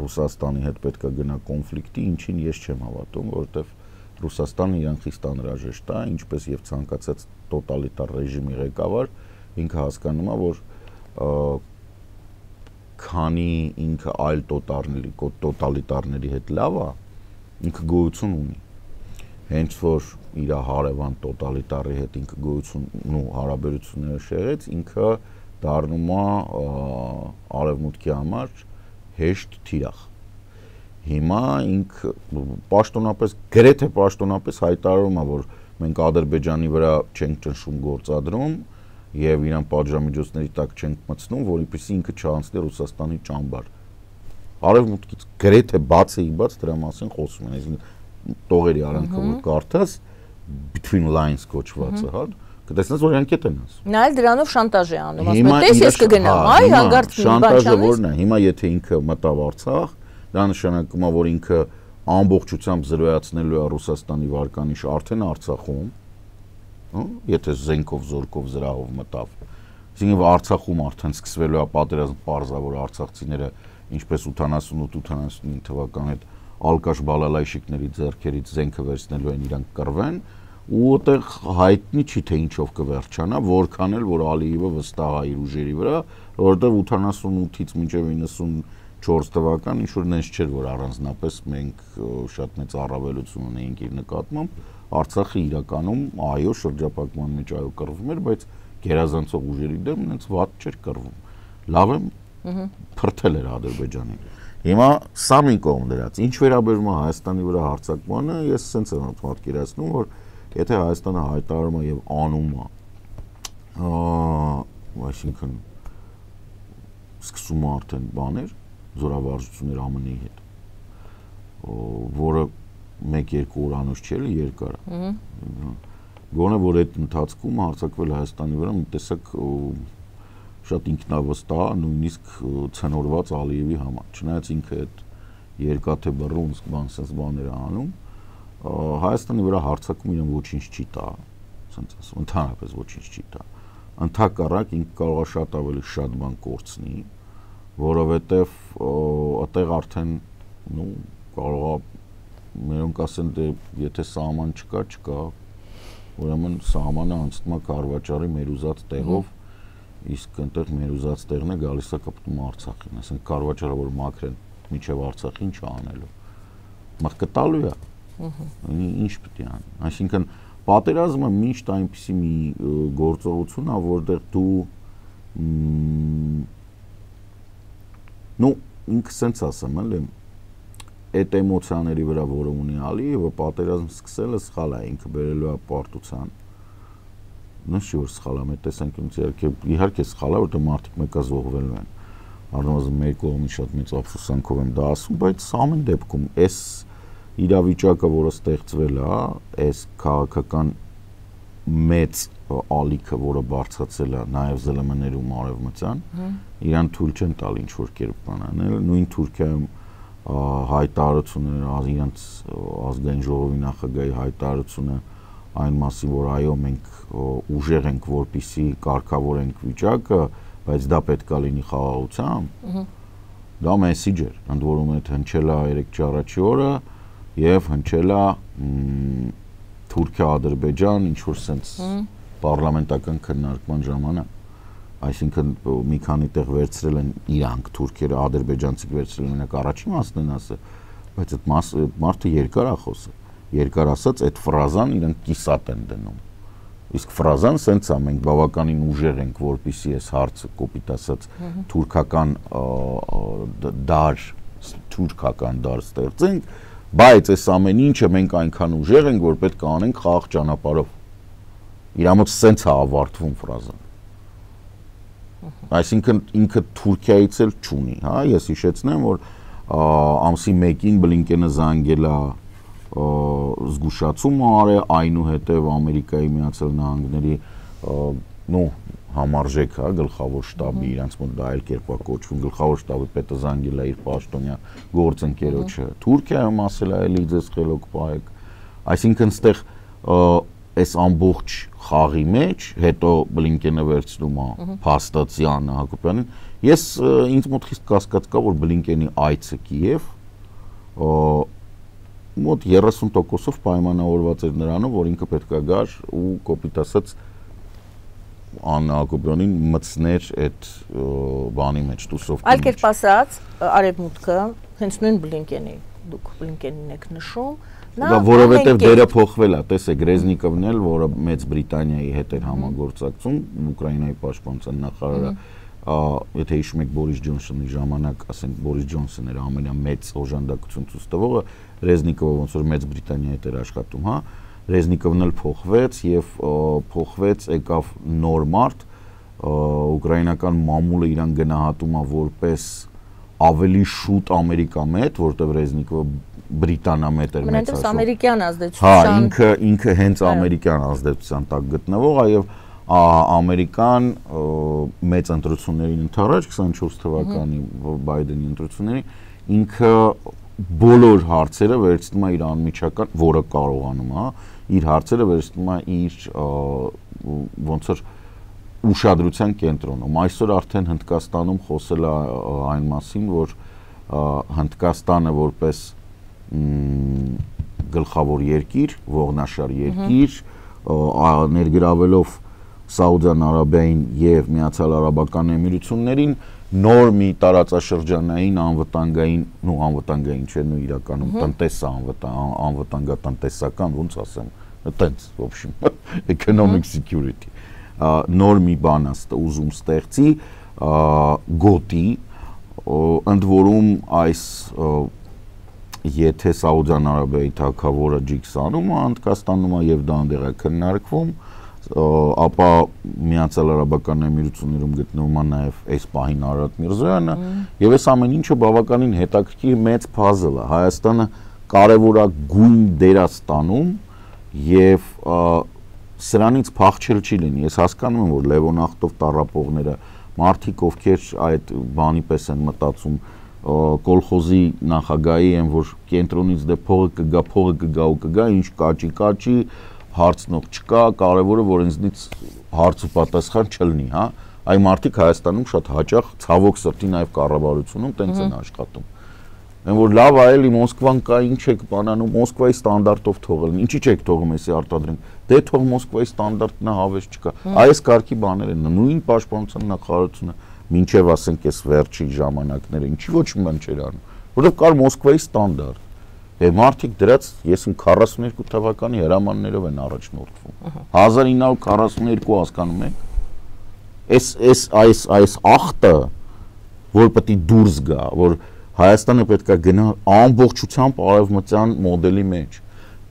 S2: Ռուսաստանի հետ պետք է գնա կոնֆլիկտի, ինչին ես չեմ հավատում, որովհետև Ռուսաստանը իրան խիստ անհրաժեշտ է, ինչպես եւ ցանկացած տոտալիտար ռեժիմի ղեկավար, ինքը հասկանում է, որ քանի ինքը այլ տոտալիտարների հետ լավ է, ինքը գոյություն ունի։ Հենց որ իր հարևան տոտալիտարի հետ ինքը գոյություն ու հարաբերությունները շեղեց, ինքը դառնում է արևմուտքի համար հեշտ թիրախ։ Հիմա ինքը պաշտոնապես, գրեթե պաշտոնապես հայտարարում է, որ մենք Ադրբեջանի վրա չենք ճնշում գործադրում եւ իրան պատժամիջոցների տակ չենք մտցնում, որովհետեւ ինքը չանցնի Ռուսաստանի ճամբար։ Արևմուտքից գրեթե բացի բաց դրա մասին խոսում են, այսինքն տողերի արանքը որ կարդաս between lines կոչվածը, հա, կտեսնես որ իրանք են ասում։
S1: Նա էլ դրանով շանտաժ է անում, ասում է, տես ես կգնամ, այ հանգարց մի բան չանես։
S2: Շանտաժը որն է, հիմա եթե ինքը մտավ Արցախ, դա նշանակում է, որ ինքը ամբողջությամբ զրոյացնելու է Ռուսաստանի վարկանիշը արդեն Արցախում, եթե զենքով, զորքով, զրահով մտավ։ Այսինքն Արցախում արդեն սկսվելու է պատերազմ, պարզա որ արցախցիները ինչպես 88-89 թվականի հետ ալկաշ բալալայշիկների ձեռքերից զենքը վերցնելու են իրանք կռվեն ու այդտեղ հայտնի չի թե ինչով կվերջանա, որքան էլ որ Ալիևը վստահ է իր ուժերի վրա, որովհետև 88-ից մինչև 94 թվական ինչ որ նենց չէր որ առանձնապես մենք շատ մեծ առավելություն ունեինք իր նկատմամբ, Արցախը իրականում այո շրջափակման մեջ այո կռվում էր, բայց գերազանցող ուժերի դեմ նենց վատ չէր կռվում։ Լավ եմ փրթել էր Ադրբեջանին։ Հիմա սա մի կողմ դրած, ինչ վերաբերում է Հայաստանի վրա հարձակմանը, ես սենց եմ պատկերացնում, որ եթե Հայաստանը հայտարարում է եւ անում է, այսինքն սկսում է արդեն բաներ, զորավարժություններ ԱՄՆ-ի հետ, որը 1-2 օր անուշ չէ, երկար է։ Գոնե որ այդ ընթացքում հարձակվել Հայաստանի վրա մի տեսակ շատ ինքնավստահ, նույնիսկ ցնորված Ալիևի համար, չնայած ինքը այդ երկաթե բռունցք բանսես բաներ անում, Հայաստանի վրա հարձակում իրեն ոչինչ չի տա, ասենց ասում, ընդհանրապես ոչինչ չի տա։ Ընդհակառակ ինքը կարող է շատ ավելի շատ բան կորցնի, որովհետև այդտեղ արդեն կարող է մերոնք ասեն դե եթե սահման չկա, ուրեմն սահմանը անցնում է Քարվաճարի մեր ուզած տեղով, իսկ այնտեղ մեր ուզած տեղն է գալիս է կապտում Արցախին, ասենք Քարվաճարը որ մաքրեն միջև Արցախին ինչ անելու։ Մղկը տալու է։ Ինչ պետք է անի։ Այսինքն պատերազմը միշտ այնպիսի մի գործողություն է, որտեղ դու ինքը սենց ասեմ, էլի այդ էմոցիաների վրա որը ունի Ալիևը պատերազմ սկսելը սխալ է, ինքը բերելու է պարտության։ Նշի որ սխալ է, մեր տեսանկյունից իհարկե սխալ է, որտեղ մարդիկ մեկը զոհվելու են։ Առնվազն մեր կողմից շատ մեծ ափսոսանքով եմ դա ասում, բայց ամեն դեպքում այս իրավիճակը, որը ստեղծվել է, այս քաղաքական մեծ ալիքը, որը բարձրացել է նաև ԶԼՄ-ներում արևմտյան, իրան թույլ չեն տալ ինչ որ կերպ բան անել, նույն Թուրքիայում հայտարարությունը իրենց ազգային ժողովի նախագահի հայտարարությունը այն մասին, որ այո մենք ուժեղ ենք, որպեսզի կարգավորենք վիճակը, բայց դա պետք է լինի խաղաղությամբ, դա մեսիջ էր, ընդ որում այդ հնչել է 3 առաջի օրը եւ հնչել է Թուրքիա-Ադրբեջան ինչ որ sense պարլամենտական քննարկման ժամանակ, այսինքն մի քանի տեղ վերցրել են իրանք թուրքերը, ադրբեջանցիք վերցրել են մենակ առաջին մասն են ասել, բայց այդ մարդը երկար է խոսել, երկար ասած այդ ֆրազան իրանք կիսատ են դնում, իսկ ֆրազան sense է մենք բավականին ուժեղ ենք, որպեսզի այս հարցը կոպիտ ասած թուրքական դար ստեղծենք, բայց այս ամեն ինչը մենք այնքան ուժեղ ենք, որ պետք է անենք խաղաղ ճանապարհով։ Իրամոց sense է ավարտվում ֆրազան։ Այսինքն ինքը Թուրքիայից էլ չունի, հա, ես հիշեցնեմ, որ ամսի 1-ին Բլինկենը զանգել է զգուշացում արել, այնուհետև Ամերիկայի Միացյալ Նահանգների համարժեք, հա, գլխավոր շտաբի, իրանց մոտ դա այլ կերպ է կոչվում, գլխավոր շտաբի պետը զանգել է իր պաշտոնյա գործընկերոջը Թուրքիայում ասել է, էլի ձեզ խելոք պահեք, այսինքն ստեղ այս ամբողջ խաղի մեջ, հետո Բլինկենը վերցնում է փաստացյանը Հակոբյանին, ես ինձ մոտ խիստ կասկած կա, որ Բլինկենի այցը Կիև մոտ 30%-ով պայմանավորված էր նրանով, որ ինքը պետք է գար ու կոպիտ ասած Աննա Հակոբյանին մտցներ այդ բանի մեջ, տուսովկի մեջ։ Այլ
S1: կերպ ասած, արևմուտքը հենց նույն Բլինկենի, դուք Բլինկենին եք նշում,
S2: դա որովհետև դերը փոխվել է, տեսեք, Ռեզնիկովն էլ, որը Մեծ Բրիտանիայի հետ էր համագործակցում, Ուկրաինայի պաշտպանության նախարարը, եթե հիշում եք Բորիս Ջոնսոնի ժամանակ, ասենք Բորիս Ջոնսոնն էր ամենամեծ օժանդակություն ցույց տվողը, Ռեզնիկովը ոնց որ Մեծ Բրիտանիայի հետ էր աշխատում, հա, Ռեզնիկովն էլ փոխվեց եւ փոխվեց եկավ նոր մարդ, ուկրաինական մամուլը իրան գնահատում է որպես ավելի շուտ ամերիկամետ, որտեղ Ռեզնիկովը բրիտանամետ էր
S1: մեծացում։ Մենտես ամերիկյան ազդեցության։
S2: Հա, ինքը հենց ամերիկյան ազդեցության տակ գտնվող է եւ ամերիկան մեծ ընտրություններին ընդառաջ 24 թվականի Բայդենի ընտրություններին ինքը բոլոր հարցերը վերցնում է իր անմիջական, որը կարողանում է, իր հարցերը վերցնում է իր ոնց որ ուշադրության կենտրոնում։ Այսօր արդեն Հնդկաստանում խոսել է այն մասին, որ Հնդկաստանը որպես գլխավոր երկիր, ողնաշար երկիր, ներգրավելով Սաուդյան Արաբիային եւ Միացյալ Արաբական Էմիրություններին նոր մի տարածաշրջանային անվտանգային չէ, նույն իրականում անվտանգատնտեսական, ոնց ասեմ, այտենց, в общем, economic security նոր մի բան ուզում ստեղծի գոտի, ընդ որում այս եթե Սաուդյան Արաբիայի թագավորը ջիքսանում է, Հնդկաստանում է եւ դա այնտեղ է քննարկվում, ապա Միացյալ Արաբական Էմիրություններում գտնվում է նաեւ այս պահին Արարատ Միրզոյանը եւ այս ամեն ինչը բավականին հետաքրքիր մեծ puzzle է։ Հայաստանը կարևորագույն դեր է ստանում եւ սրանից փախչել չի լինի։ Ես հասկանում եմ, որ Լևոն Ախտով տառապողները, մարդիկ, ովքեր այդ բանի պես են մտածում, կոլխոզի նախագահի են, որ կենտրոնից դե փողը կգա, ինչ կաճի, հարցնող չկա, կարևորը որ ինձնից հարց ու պատասխան չլինի, հա։ Այ մարդիկ Հայաստանում շատ հաճախ ցավոք սրտի նաև կառավարությունում տենց են աշխատում։ Այն որ լավ է, էլի Մոսկվան կա, ինչ եք բանանում, Մոսկվայի ստանդարտով թողել, ինչի՞ չեք թողում էսի արտադրենք։ Դե թող Մոսկվայի ստանդարտն է, հավես չկա։ Այս կարգի բաներ են, նույն պաշտպանության նախարարությունը մինչև ասենք այս վերջի ժամանակները, ինչի ոչ մի բան չէր անում, որովհետև կար Մոսկվայի ստանդարտ։ Եվ մարդիկ դրած, ես 42 թվականի հրամաններով են առաջնորդվում։ 1942 հասկանում եք։ Այս ախտը, որ պետք է դուրս գա, որ Հայաստանը պետք է գնա ամբողջությամբ արևմտյան մոդելի մեջ,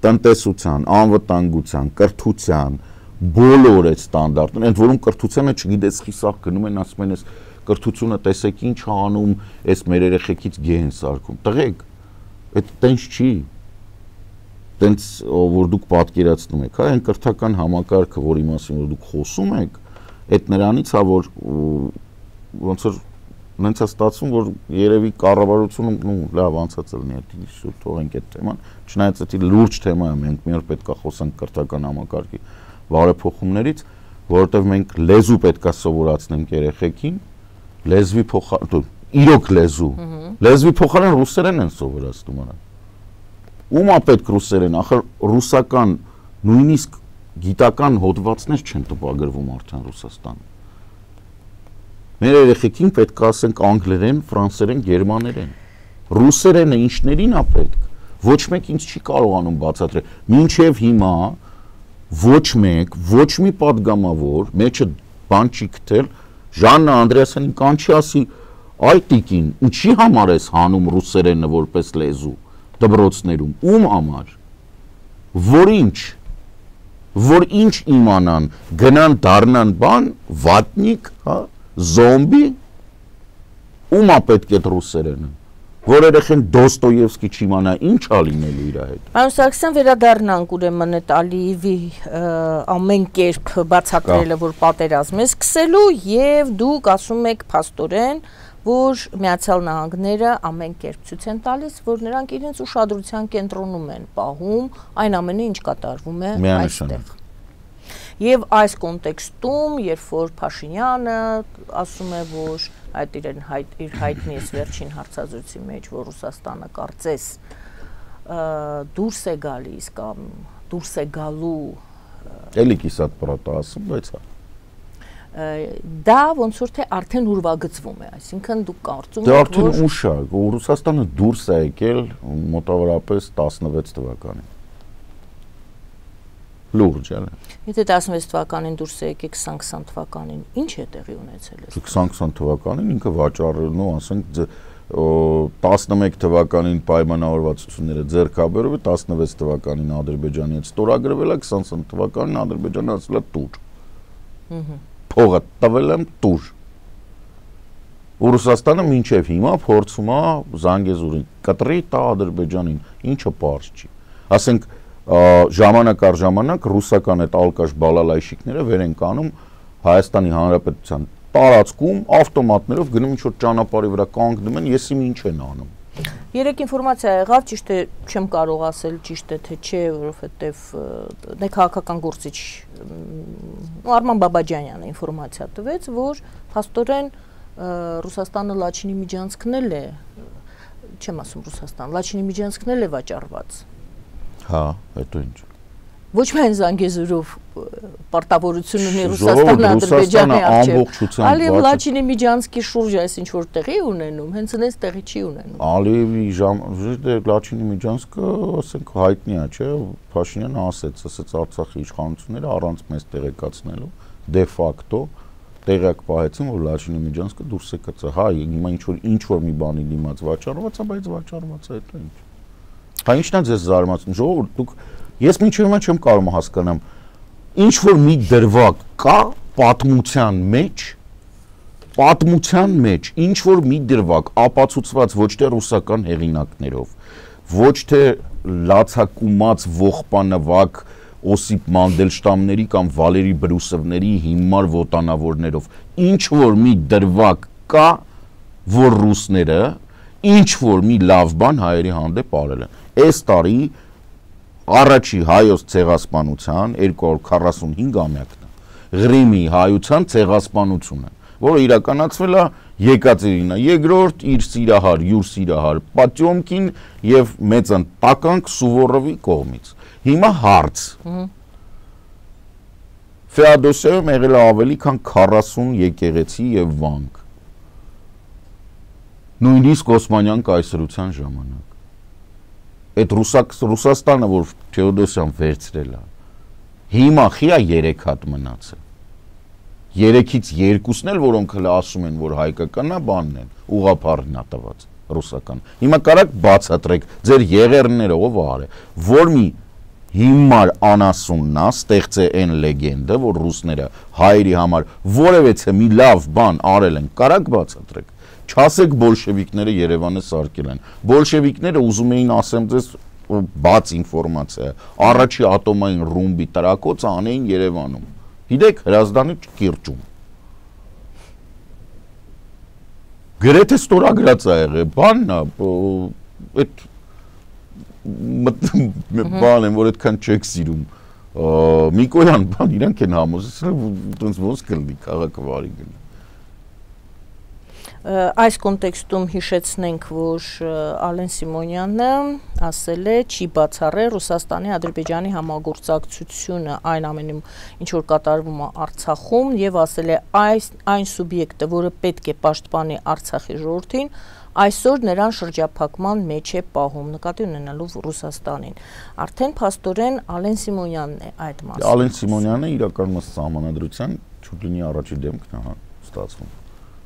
S2: տնտեսության, անվտանգության, կրթության, բոլոր այդ ստանդարտներ, ընդ որում կրթությանը չգիտես խիսախ գնում են, ասում են, այս կրթությունը տեսեք ինչ անում, այս մեր երեխեքից գեհ են սարքում։ Տղեկ, այդ տենց չի։ Տենց որ դուք պատկերացնում եք, հա, այն կրթական համակարգը, որի մասին որ դուք խոսում եք, այդ նրանից է, որ ոնց որ նենց է ստացվում, որ երևի կառավարությունում, լավ անցած լինի, այդ թողենք այդ թեման, չնայած դա լուրջ թեմա է, մենք մի օր պետք է խոսենք կրթական համակարգի բարեփոխումներից, որովհետև մենք լեզու պետք է սովորացնենք երեխեքին, լեզվի փոխարեն, իրոք լեզվի փոխարեն ռուսերեն են սովորացնում նրան։ Ում է պետք ռուսերեն, ախր ռուսական նույնիսկ գիտական հոդվածներ չեն տպագրվում արդեն Ռուսաստանում։ Մեր երեխեքին պետք է ասենք անգլերեն, ֆրանսերեն, գերմաներեն։ Ռուսերենը ինչներին է պետք։ Ոչ մեկ ինձ չի կարողանում բացատրել։ Մինչև հիմա ոչ մեկ, ոչ մի падգամավոր մեջը բան չի գտել, Ժաննա Անդրեասյանին կանչի ասի, այ տիկին, ինչի համար ես հանում ռուսերենը որպես լեզու դպրոցներում, ում համար։ Որ ինչ իմանան, գնան դառնան բան, վատնիկ, հա, զոմբի, ում է պետք է ռուսերենը, որ երեխեն Դոստոևսկի չիմանա, ինչ ա լինելու իր հետ։
S1: Պարոն Սարգսյան, վերադառնանք ուրեմն այդ Ալիևի ամեն կերպ բացատրելը, որ պատերազմ է սկսելու, եւ դուք ասում եք փաստորեն, որ Միացյալ Նահանգները ամեն կերպ ցույց են տալիս, որ նրանք իրենց ուշադրության կենտրոնում են պահում այն ամենը, ինչ կատարվում է այստեղ։ Եվ այս կոնտեքստում, երբ որ Փաշինյանը ասում է, որ այդ իր հայտնի է վերջին հարցազրույցի մեջ, որ Ռուսաստանը կարծես դուրս է գալիս կամ դուրս է գալու
S2: էլի կիսատ պրոտա ասում, բայց
S1: դա ոնց որ թե արդեն ուրվագծվում է, այսինքն դուք կարծում
S2: եք, որ դե արդեն ուշ է, Ռուսաստանը դուրս է եկել մոտավորապես 16 թվականին։ Լուրջ է։
S1: Եթե 16 թվականին դուրս է եկել 2020 թվականին, ինչ է տեղի ունեցել է։
S2: 2020 թվականին ինքը վաճառելու, ասենք 11 թվականին պայմանավորվածությունները ձեռքաբերով է, 16 թվականին Ադրբեջանի հետ ստորագրվել է, 2020 թվականին Ադրբեջանը ասել է տուր։ Փողը տվել եմ տուր։ Ռուսաստանը մինչև հիմա փորձում է Զանգեզուրին կտրի տա Ադրբեջանին, ինչը պարզ չի։ Ասենք ժամանակ առ ժամանակ ռուսական այդ ալկաշ բալալայշիկները վեր են կանում Հայաստանի Հանրապետության տարածքում ավտոմատներով գնում ինչ որ ճանապարհի վրա կանգնում են, եսի ինչ են անում։
S1: Երեք ինֆորմացիա եղավ, ճիշտ է, չեմ կարող ասել ճիշտ է թե չէ, որովհետև ներքաղաքական գործիչ Արման Բաբաջանյանը ինֆորմացիա տվեց, որ փաստորեն Ռուսաստանը Լաչինի միջանցքն է, չեմ ասում Ռուսաստան, Լաչինի միջանցքն է վաճառված։ Հա, հետո ինչ։ Ոչ միայն Զանգեզուրով պարտավորություն ունի Ռուսաստանը Ադրբեջանի առջև, այլև Լաչինի միջանցքի շուրջ այս ինչ որ տեղի ունենում, հենց այնպես տեղի չի ունենում։ Ալիևի
S2: Լաչինի միջանցքը, ասենք, հայտնի է, չէ՞, Փաշինյանը ասեց Արցախի իշխանությունները առանց մեզ տեղեկացնելու դե ֆակտո տեղյակ պահեցին, որ Լաչինի միջանցքը դուրս է գցել։ Հա, հիմա ինչ որ մի բանի դիմաց վաճառված է, բայց վաճառված է, հետո ինչ։ Հա, ինչն է ձեզ զարմացնում, ժողովուրդ, դուք ես մինչև հիմա չեմ կարող հասկանամ, ինչ որ մի դրվագ կա պատմության մեջ, ինչ որ մի դրվագ ապացուցված ոչ թե ռուսական հեղինակներով, ոչ թե լացակումած ողբանվակ Օսիպ Մանդելշտամների կամ Վալերի Բրուսովների հիմար ոտանավորներով, ինչ որ մի դրվագ կա, որ ռուսները ինչ որ մի լավ բան հայերի հանդեպ արել են։ Այս տարի առաջի հայոց ցեղասպանության 245-ամյակն է, Ղրիմի հայության ցեղասպանությունը, որը իրականացվել է Եկատերինա II իր սիրահար, յուր սիրահար Պատյոմկին եւ մեծն տականք Սուվորովի կողմից։ Հիմա հարց։ Ֆեոդոսիայում եղել է ավելի քան 40 եկեղեցի եւ վանք։ Նույնիսկ Օսմանյան կայսրության ժամանակ։ Այդ Ռուսաստանը, որ Ֆեոդոսիան վերցրել է, հիմա խիա 3 հատ մնացել։ 3-ից 2-ն էլ, որոնք հələ ասում են, որ հայկականն է, բանն են, ուղղափառն է տված ռուսական։ Հիմա կարաք բացատրեք ձեր եղերները ով արել, որ մի հիմար անասունն է, ստեղծե այն լեգենդը, որ ռուսները հայերի համար որևէ մի լավ բան արել են, կարաք բացատրեք։ Չասեք բոլշևիկները Երևանը սարքել են։ Բոլշևիկները ուզում էին ասեմ ձեզ բաց ինֆորմացիա, առաջի ատոմային ռումբի տրակոցը անեին Երևանում։ Գիտեք, Հրազդանի կիրճում։ Գրեթե ստորագրած է եղել, բանն է, այդ բան եմ, որ այդքան չեք սիրում։ Միկոյան, բան, իրանք են համոզեցրել, ոնց ոնց կլինի քաղաքը վարի գնա։
S1: Այս կոնտեքստում հիշեցնենք, որ Ալեն Սիմոնյանը ասել է չի բացառել Ռուսաստանի Ադրբեջանի համագործակցությունը այն ամենում, ինչ որ կատարվում է Արցախում, եւ ասել է այն սուբյեկտը, որը պետք է պաշտպանի Արցախի ժողովրդին, այսօր նրան շրջափակման մեջ է պահում, նկատի ունենալով Ռուսաստանին։ Արդեն փաստորեն Ալեն Սիմոնյանն է այդ մասը։
S2: Ալեն Սիմոնյանը իրականում սահմանադրության չուտլինի առաջի դեմքն է ստացվում։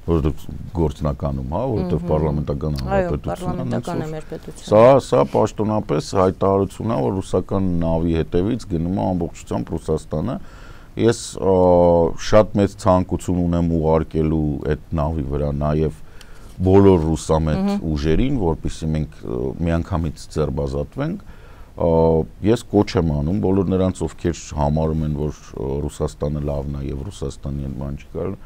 S2: Որովհետև գործնականում, հա, որովհետև պարլամենտական
S1: հանրապետությունն է։
S2: Սա պաշտոնապես հայտարարություն է, որ ռուսական նավի հետևից գնում է ամբողջությամբ Ռուսաստանը։ Ես շատ մեծ ցանկություն ունեմ ուղարկելու այդ նավի վրա նաև բոլոր ռուսամետ ուժերին, որպեսզի մենք միանգամից ձեռբազատվենք։ Ես կոչ եմ անում բոլոր նրանց, ովքեր համարում են, որ Ռուսաստանը լավն է եւ Ռուսաստանի հետ բան չի կարելի,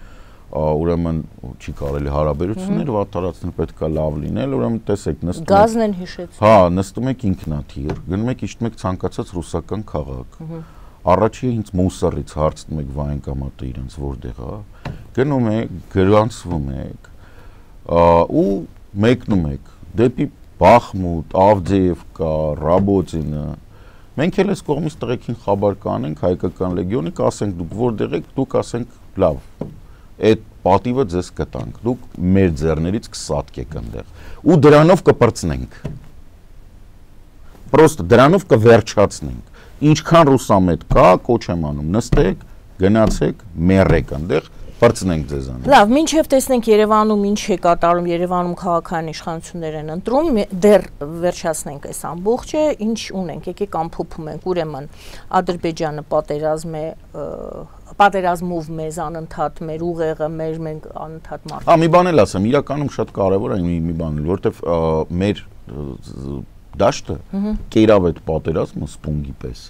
S2: ուրեմն չի կարելի հարաբերություններ վատթարացնել, պետք է լավ լինել, ուրեմն տեսեք, նստում
S1: գազն են հիշեցնում։
S2: Հա, նստում եք ինքնաթիռ, գնում եք իջնում եք ցանկացած ռուսական քաղաք։ Առաջի ինձ մուսարից հարցնում եք վայնկամատը իրենց որտեղ է, գնում եք, գրանցվում եք, ու մեկնում եք դեպի Բախմուտ, Ավդեևկա, Ռաբոտինը։ Մենք էլ այս կողմից տղեկին խաբար կանենք հայկական լեգիոնի, կասենք դուք որտեղ եք, դուք ասենք լավ։ Այդ պատիվը ձեզ կտանք, դուք մեր ձեռներից կսատկեք այնտեղ ու դրանով կպրծնենք։ Պրոստը դրանով կվերջացնենք։ Ինչքան ռուսամետ կա, կոչ եմ անում, նստեք, գնացեք, մեռեք այնտեղ, պրծնենք ձեզանից։
S1: Լավ, մինչև տեսնենք Երևանում ինչ է կատարում, Երևանում քաղաքային իշխանություններ են ընտրում, դեռ վերջացնենք այս ամբողջը, ինչ ունենք, եկեք ամփոփում ենք, ուրեմն Ադրբեջանը պատերազմով մեզ անընդհատ մեր ուղեղը, մենք անընդհատ մարդիկ։
S2: Մի բան էլ ասեմ, իրականում շատ կարևոր է մի բան, որովհետև մեր դաշտը կերավ այդ պատերազմը սպունգի պես։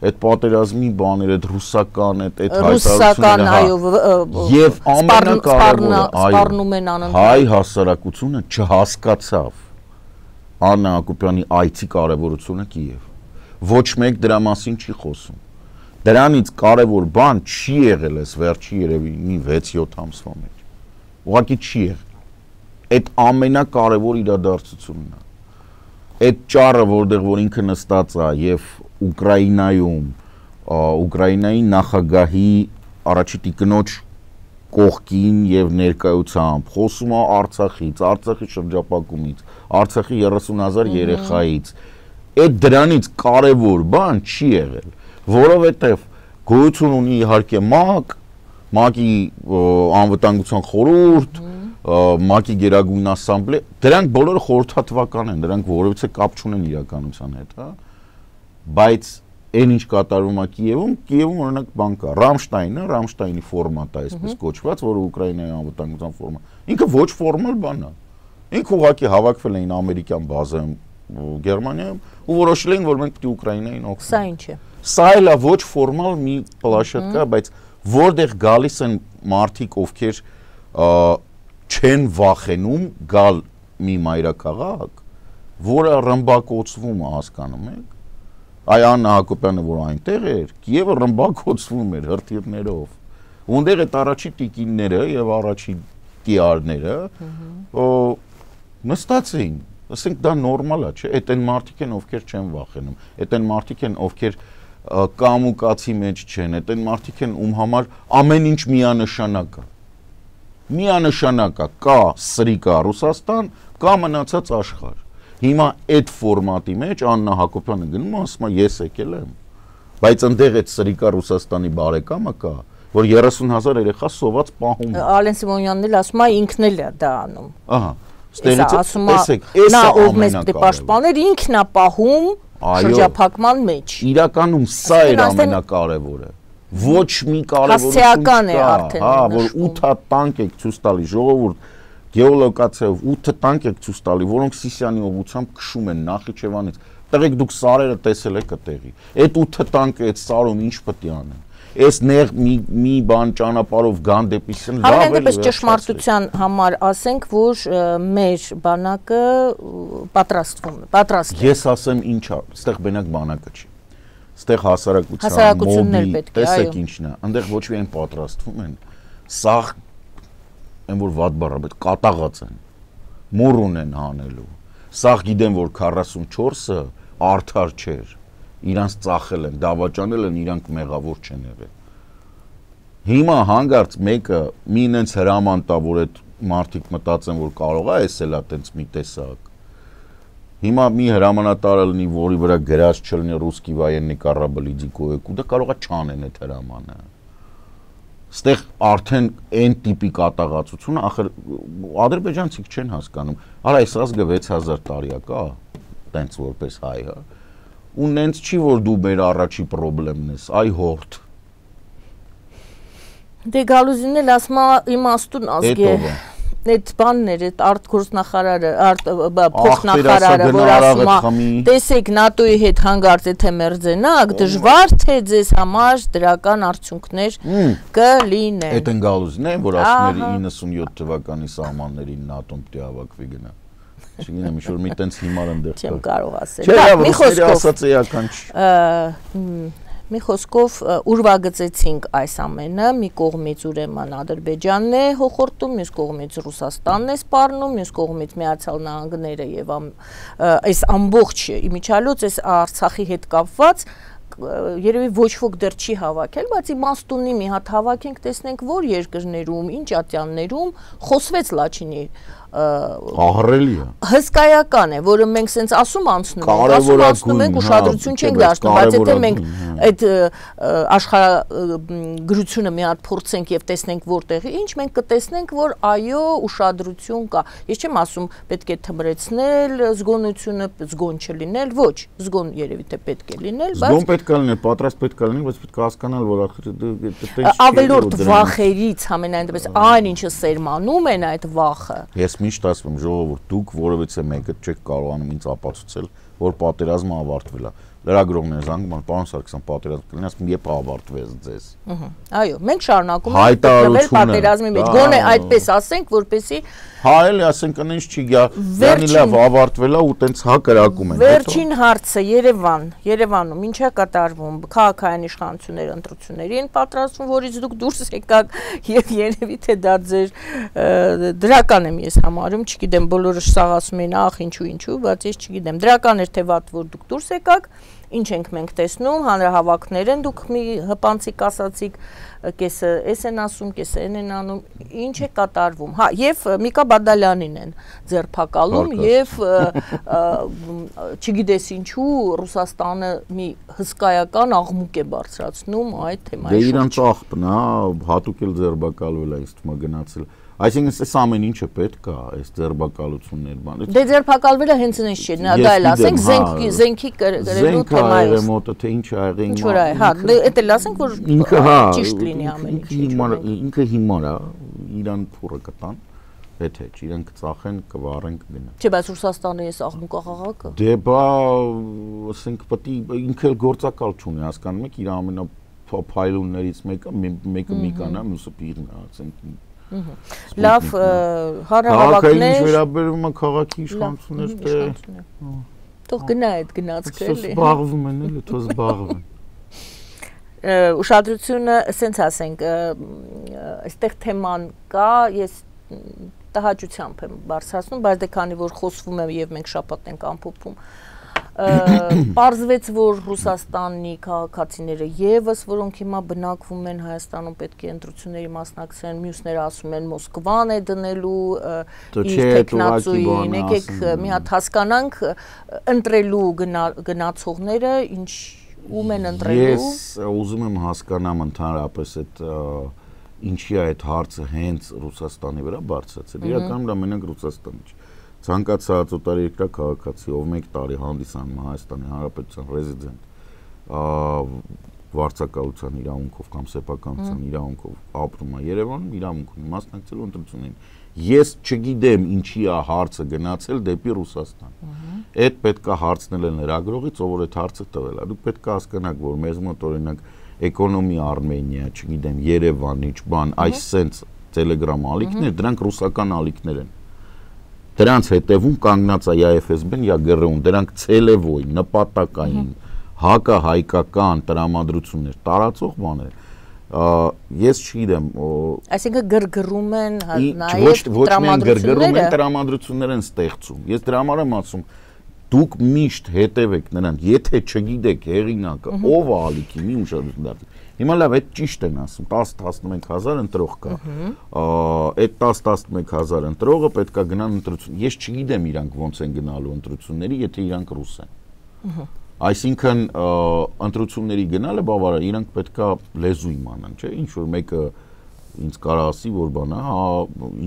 S2: Այդ պատերազմի բաները, այդ ռուսական, այդ
S1: հայտարարությունները,
S2: եւ ամենակարևորը,
S1: սպառնում են անընդհատ։
S2: Հայ հասարակությունը չհասկացավ, Աննա Հակոբյանի այցի կարևորությունը Կիև։ Ոչ մեկ դրա մասին չի խոսում։ Դրանից կարևոր բան չի եղել այս վերջի երևի մի 6-7 ամսվա մեջ։ Ուղղակի չի եղել։ Այդ ամենակարևոր իրադարձությունն է։ Այդ ճառը, որտեղ որ ինքը նստած է եւ Ուկրաինայում, Ուկրաինայի նախագահի առաջի տիկնոջ կողքին եւ ներկայությամբ խոսում է Արցախից, Արցախի շրջապակումից, Արցախի 30,000 երեխայից։ Այդ դրանից կարևոր բան չի եղել, որովհետեւ գոյություն ունի իհարկե ՄԱԿ-ի անվտանգության խորհուրդ, ՄԱԿ-ի Գերագույն ասամբլեա, դրանք բոլորը խորհրդատվական են, դրանք որևիցե կապ չունեն իրականության հետ, հա։ Բայց այն ինչ կատարվում է Կիևում օրինակ բան կա, Ռամշտայնի ֆորմատ է, այսպես կոչված, որը Ուկրաինայի անվտանգության ֆորմատ։ Ինքը ոչ ֆորմալ բան է։ Ինքը ուղղակի հավաքվել էին ամերիկյան բազայում Գերմանիայում ու որոշել էին, որ մենք պետք է Ուկրաինային օգնենք։
S1: Սա ինչ է։
S2: Սա էլ է ոչ ֆորմալ մի պլաշատկա, բայց որտեղ գալիս են մարդիկ, ովքեր չեն վախենում գալ մի մայրաքաղաք, որը ռմբակոծվում է, հասկանում եք։ Այ Աննա Հակոբյանը, որ այնտեղ էր, Կիևը ռմբակոծվում էր հրթիռներով։ Ունդեղ այդ առաջի տիկինները եւ առաջի տիարները նստած էին, ասենք դա նորմալ է, չէ՞, այդ այն մարդիկ են, ովքեր չեն վախենում, այդ այն մարդիկ են, ովքեր կամուկացի մեջ չեն, այդ այն մարդիկ են, ում համար ամեն ինչ միանշանակ է։ Միանշանակ է, կա Սրիկա Ռուսաստան, կա մնացած աշխարհ։ Հիմա այդ ֆորմատի մեջ Աննա Հակոբյանը գնում է, ասում է ես եկել եմ, բայց այնտեղ այդ Սրիկա Ռուսաստանի բարեկամը կա, որ 30,000 երեխա սոված պահում է։
S1: Ալեն Սիմոնյանն էլ ասում է ինքն էլ է դա անում։
S2: Ահա, ստերից տեսեք,
S1: նա ով մեզ պետք է պաշտպաներ, ինքն է պահում շրջափակման մեջ։
S2: Իրականում սա էր ամենակարևորը։ Ոչ մի կարևորություն չկա, հա, որ 8 տանկ եք ցույց տալի ժողովուրդ գեոլոկացիայով 8 տանկ եք ցույց տալի, որոնք Սիսիանի ուղղությամբ քշում են Նախիջևանից։ Տեղեք դուք սարերը տեսել եք այդտեղի։ Այդ 8 տանկը այդ սարում ինչ պետք է անեն։ Այս նեղ մի բան ճանապարհով գան դեպի Սեն լավ է։
S1: Այնպես ճշմարտության համար ասենք, որ մեր բանակը պատրաստվում է։
S2: Ես ասեմ ինչա, այստեղ բնակ բանակը չի։ Այստեղ հասարակությունն էլ պետք է, այո։ Տեսեք ինչն է, այնտեղ ոչ միայն պատրաստվում են, սաղ են որ վատ բառը, բայց կատաղած են, մուրուն են հանելու, սաղ գիտեն, որ 44-ը արդար չեր, իրանց ծախել են, դավաճանել են, իրանք մեղավոր չեն եղել։ Հիմա հանգարց մեկը մի ինենց հրաման տա, որ այդ մարդիկ մտածեն, որ կարող է էսել է տենց մի տեսակ։ Հիմա մի հրամանատարը լինի, որի վրա գրած չլինի ռուսկի военный корабль иди կոյեք, ու դա կարող է չանեն այդ հրամանը։ Ստեղ արդեն այն տիպի կատաղացությունը, ախր ադրբեջանցիք չեն հասկանում։ Արա այս ազգը 6000 տարի է կա, տենց որպես հայ, հա։ Ու նենց չի որ դու մեր առաջի խնդիրն ես, այ հորդ։
S1: Դե Գալուզինն էլ ասում է իմաստուն ազգ է։ Այդ բաններ, այդ արտգործնախարարը, փոխնախարարը, որ ասում է, տեսեք ՆԱՏՕ-ի հետ հանգարց եթե մերձենաք, դժվար թե ձեզ համար դրական արդյունքներ կլինեն։
S2: Այդ են Գալուզինն է, որ ասում էր 97 թվականի սահմաններին ՆԱՏՕ-ն պետք է հավաքվի գնա։ Չգիտեմ, ինչ որ մի տենց հիմար ընդեղ կա։
S1: Չեմ կարող ասել։
S2: Մի խոսքով
S1: Մի խոսքով ուրվագծեցինք այս ամենը, մի կողմից ուրեմն Ադրբեջանն է հոխորտում, մյուս կողմից Ռուսաստանն է սպառնում, մյուս կողմից Միացյալ Նահանգները եւ այս ամբողջ իմիջիալոց այս Արցախի հետ կապված երևի ոչ ոք դեռ չի հավաքել, բայց իմաստունի մի հատ հավաքենք, տեսնենք որ երկրներում, ինչ ատյաններում խոսվեց Լաչինի
S2: ահռելի է։
S1: Հսկայական է, որը մենք սենց ասում անցնում ենք, ուշադրություն չենք դարձնում, բայց եթե մենք այդ աշխարհագրությունը մի հատ փորձենք եւ տեսնենք որտեղի ինչ, մենք կտեսնենք, որ այո, ուշադրություն կա։ Ես չեմ ասում պետք է թմրեցնել զգոնությունը, զգոն չլինել, ոչ, զգոն երևի թե պետք է լինել, բայց
S2: զգոն պետք է լինել, պատրաստ պետք է լինել, բայց պետք է հասկանալ, որ
S1: ավելորդ վախերից ամենայն դեպս այն ինչը սերմանում են այդ վախը։
S2: Ես միշտ ասում եմ ժողովուրդ, դուք որևիցե մեկը չեք կարողանում ինձ ապացուցել, որ պատերազմը ավարտվել է։ Լրագրողները զանգում են, պարոն Սարգսյան, պատերազմ կլինի, ասում եմ, երբ ավարտվեց ձեզ։
S1: Այո, մենք շարունակում ենք գտնվել պատերազմի մեջ։ Գոնե այդպես ասենք, որպեսզի
S2: Հայելի ասենք այնց չի գա, դանի լավ ավարտվել է ու տենց հա կրակում են։
S1: Վերջին հարցը Երևանում ինչ է կատարվում քաղաքային իշխանությունների ընտրություններին պատրաստվում, որից դուք դուրս եկաք եւ երևի թե դա ձեր դրական եմ ես համարում, չգիտեմ, բոլորը սաղ ասում են, ախ ինչու, բայց ես չգիտեմ, դրական էր թե վատ, որ դուք դուրս եկաք, ինչ ենք մենք տեսնում, հանրահավաքներ են, դուք մի հպանցիկ ասացիք, կեսը էս են ասում, կեսը են անում, ինչ է կատարվում։ Հա, եւ Միկա Բադալյանին են ձերբակալում եւ չգիտես ինչու Ռուսաստանը մի հսկայական աղմուկ է բարձրացնում այդ թեմայի շուրջ։
S2: Դե իրանց աղբն է, հատուկ էլ ձերբակալվել է, ինձ թվում է գնացել։ Այսինքն այս ամեն ինչը պետք է, այս ձերբակալություններ բանը։
S1: Դե ձերբակալվելը հենց այնպես չէ, դա էլ ասենք զենքի գրելու թեմայով։
S2: Ինքը մոտը թե ինչ ա եղել։
S1: Ինչ որ է, հա, դա էլ ասենք որ ճիշտ լինի ամեն ինչ։
S2: Ինքը հիմար է, իրան փուրը կտան, եթե չէ, իրենք ծախեն, կվառեն, կգնան։
S1: Չէ, բայց Ռուսաստանը էս աղմուկ աղաղակը։
S2: Դե բա, ասենք պետք է ինքը էլ գործակալ չունի, հասկանում եք, իր ամենափայլուններից մեկը Միկան է, մյուսը Պիրն է, ասենք
S1: Լավ, հանրահավաքներ։
S2: Ինչ վերաբերում է քաղաքի իշխանություններ, դե
S1: թող գնա այդ գնացքը էլի։
S2: Զբաղվում են էլի, թող զբաղվեն։
S1: Ուշադրությունը, ասենց ասենք, այստեղ թեման կա, ես տհաճությամբ եմ բարձրացնում, բայց դե քանի որ խոսվում է եւ մենք շաբաթ ենք ամփոփում, պարզվեց, որ Ռուսաստանի քաղաքացիները եւս, որոնք հիմա բնակվում են Հայաստանում, պետք է ընտրությունների մասնակցեն, մյուսները ասում են Մոսկվան է դնելու իր տեխնացուին, եկեք մի հատ հասկանանք ընտրելու գնացողները ինչ ում են ընտրելու։
S2: Ես ուզում եմ հասկանամ ընդհանրապես այդ ինչի է այդ հարցը հենց Ռուսաստանի վրա բարձրացել։ Իրականում դա մենակ Ռուսաստանի չէ։ Ցանկացած օտարերկրյա քաղաքացի, ով 1 տարի հանդիսանում է Հայաստանի Հանրապետության ռեզիդենտ, վարձակալության իրավունքով կամ սեփականության իրավունքով ապրում է Երևանում, իրավունք ունի մասնակցելու ընտրություններին։ Ես չգիտեմ ինչի է հարցը գնացել դեպի Ռուսաստան։ Այդ պետք է հարցնել են լրագրողից, ով որ այդ հարցը տվել է։ Դուք պետք է հասկանաք, որ մեզ մոտ օրինակ Էկոնոմի Արմենիա, չգիտեմ, Երևան, ինչ բան, այս սենց Telegram ալիքներ, դրանք ռուսական ալիքներ են։ Դրանց հետևում կանգնած է या FSB-ն, या ԳՌՈ-ն, դրանք ցելևոյ, նպատակային, հակահայկական տրամադրություններ, տարածող բաներ։ Ես չգիտեմ,
S1: այսինքն գրգռում են նաև
S2: տրամադրությունները, տրամադրություններ են ստեղծում։ Ես դրա համար եմ ասում, դուք միշտ հետևեք նրան, եթե չգիտեք հեղինակը, ով է ալիքի, մի ուշադրություն դարձեք։ Հիմա լավ, այդ ճիշտ են ասում, 10-11,000 ընտրող կա։ Այդ 10-11,000 ընտրողը պետք է գնան ընտրություն։ Ես չգիտեմ իրանք ոնց են գնալու ընտրությունների, եթե իրանք ռուս են։ Այսինքն ընտրությունների գնալը բավարար, իրանք պետք է լեզու իմանան, չէ՞, ինչ որ մեկը ինձ կարա ասի, որ բան է, հա,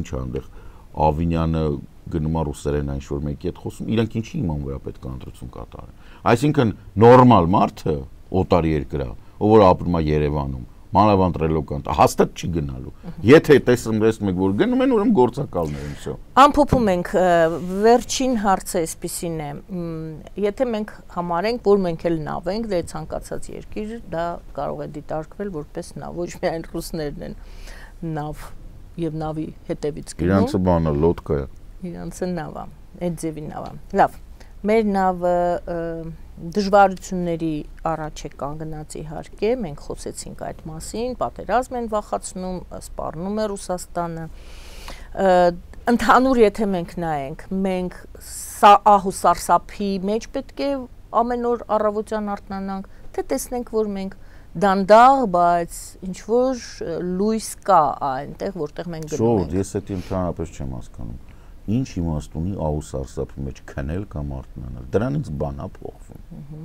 S2: ինչ է այնտեղ Ավինյանը գնում է ռուսերեն ինչ որ մեկի հետ խոսում, իրանք ինչի իման վրա պետք է ընտրություն կատարեն։ Այսինքն նորմալ մարդը օտարի երկրա ով որ ապրում է Երևանում, մանավանդ ռելոկանտ, հաստատ չի գնալու։ Եթե տեսնում եք, որ գնում են, ուրեմն գործակալներ են, всё։
S1: Ամփոփում ենք, վերջին հարցը այսպեսին է, եթե մենք համարենք, որ մենք էլ նավ ենք, դե ցանկացած երկիր, դա կարող է դիտարկվել որպես նավ, ոչ միայն ռուսներն են նավ եւ նավի հետևից գնում։
S2: Իրանցը բանը լոդկա է։
S1: Իրանցը նավ է, այդ ձևի նավ է։ Լավ, մեր նավը դժվարությունների առաջ է կանգնած իհարկե, մենք խոսեցինք այդ մասին, պատերազմ են վախացնում, սպառնում է Ռուսաստանը։ Ընդհանուր եթե մենք նայենք, մենք ահու սարսափի մեջ պետք է ամեն օր առավոտյան արթնանանք, թե տեսնենք, որ մենք դանդաղ, բայց ինչ որ լույս կա այնտեղ, որտեղ մենք գնում ենք։
S2: Շո, ես դա ընդհանրապես չեմ հասկանում։ Ինչ իմաստ ունի ահու սարսափի մեջ քնել կամ արթնանալ։ Դրանից բան է փոխվում։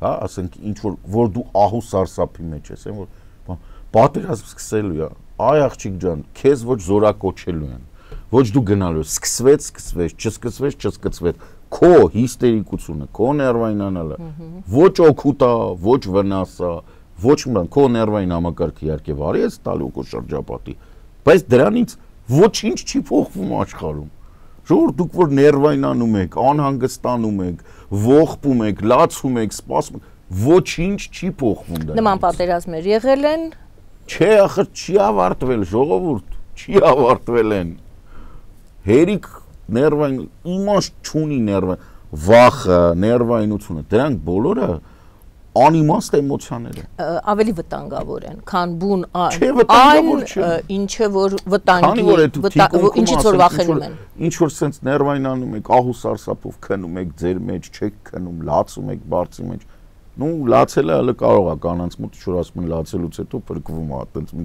S2: Հա, ասենք ինչ որ դու ահու սարսափի մեջ ես, որ պատերազմ սկսելու է։ Այ աղջիկ ջան, քեզ ոչ զորակոչելու են։ Ոչ դու գնալու ես, չսկսվեց։ Քո հիստերիկությունը, քո ներվայնանալը, ոչ օգուտ է, ոչ վնաս է, ոչ մի քո ներվային համակարգը իհարկե վարի ես տալու քո շրջապատի, բայց դրանից ոչինչ չի փոխվում աշխարհում։ Ժողովուրդ դուք որ ներվայնանում եք, անհանգստանում եք, ողբում եք, լացում եք, սպասում եք, ոչինչ չի փոխվում դա։
S1: Նման պատերազմներ եղել են։
S2: Չէ, ախր չի ավարտվել, ժողովուրդ, չի ավարտվել են։ Հերիք ներվային իմաստ չունի ներվային, վախը, ներվայնությունը, դրանք բոլորը անիմաստ էմոցիաներ են։
S1: Ավելի վտանգավոր են, քան բուն
S2: այն,
S1: ինչը որ վտանգի, ինչից որ վախենում են։
S2: Ինչ որ sense ներվայնանում եք, ահուսարսափով քնում եք, ձեր մեջ չեք քնում, լացում եք բարձի մեջ։ Ну, լացելը հələ կարող է կանանց մոտ ինչ որ ասում են լացելուց հետո փրկվում է, այտենց մի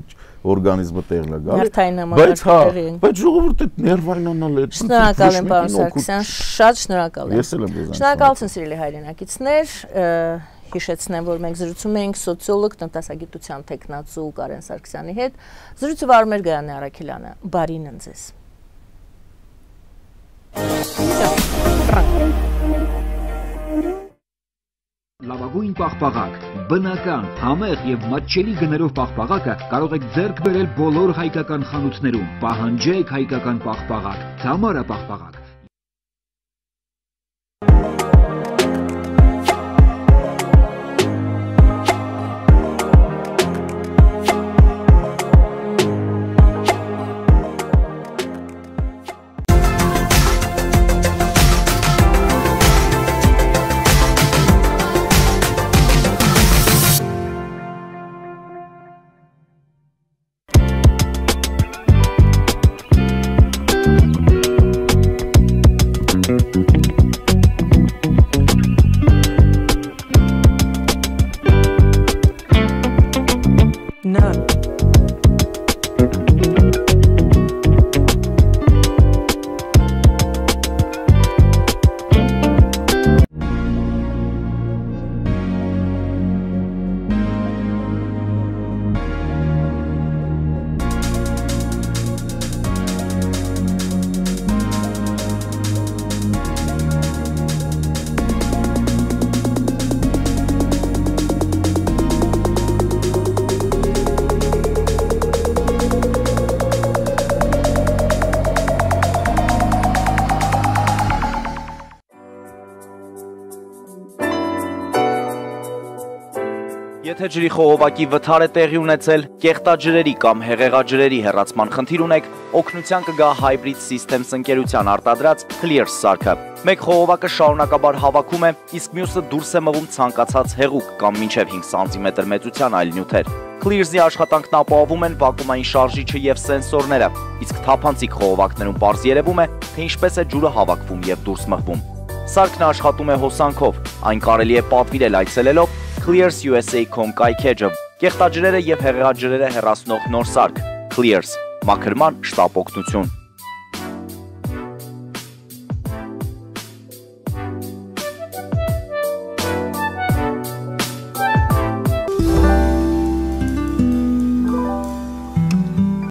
S2: օրգանիզմը տեղն է գալի։ Բայց ժողովուրդը ներվայնանալ է։
S1: Շնորհակալ եմ, պարոն Սարգսյան, շատ շնորհակալ եմ։
S2: Ես էլ եմ ձեզ։
S1: Շնորհակալություն, սիրելի հայրենակիցներ, հիշեցնեմ, որ մենք զրուցում էինք սոցիոլոգ, տնտեսագիտության թեկնածու Կարեն Սարգսյանի հետ։ Զրույցը վարում էր Գայանե Առաքելյանը։ Բարին ընձեզ։
S3: Լավագույն պաղպաղակ, բնական, համեղ եւ մատչելի գներով պաղպաղակը կարող եք ձեռք բերել բոլոր հայկական խանութներում։ Պահանջեք հայկական պաղպաղակ, Թամարա պաղպաղակ։
S4: Եթե ջրի խողովակի վթար է տեղի ունեցել, կեղտաջրերի կամ հեղեղաջրերի հեռացման խնդիր ունեք, օգնության կգա Hybrid Systems ընկերության արտադրած Clears սարքը։ Մեկ խողովակը շարունակաբար հավաքում է, իսկ մյուսը դուրս է մղում ցանկացած հեղուկ կամ մինչև 5 սանտիմետր մեծության այլ նյութեր։ Clears-ի աշխատանքն ապահովում են վակուումային շարժիչը եւ սենսորները, իսկ թափանցիկ խողովակներում պարզ երևում է, թե ինչպես է ջուրը հավաքվում եւ դուրս մղվում։ Սարքն աշխատում է հոսանքով, այն կարելի է պատվիրել այցելելով clearsusa.com կայքեջը, կեղտաջրերը եւ հեղեղաջրերը հեռացնող նոր սարք, Clears, մաքրման շտապ օգնություն։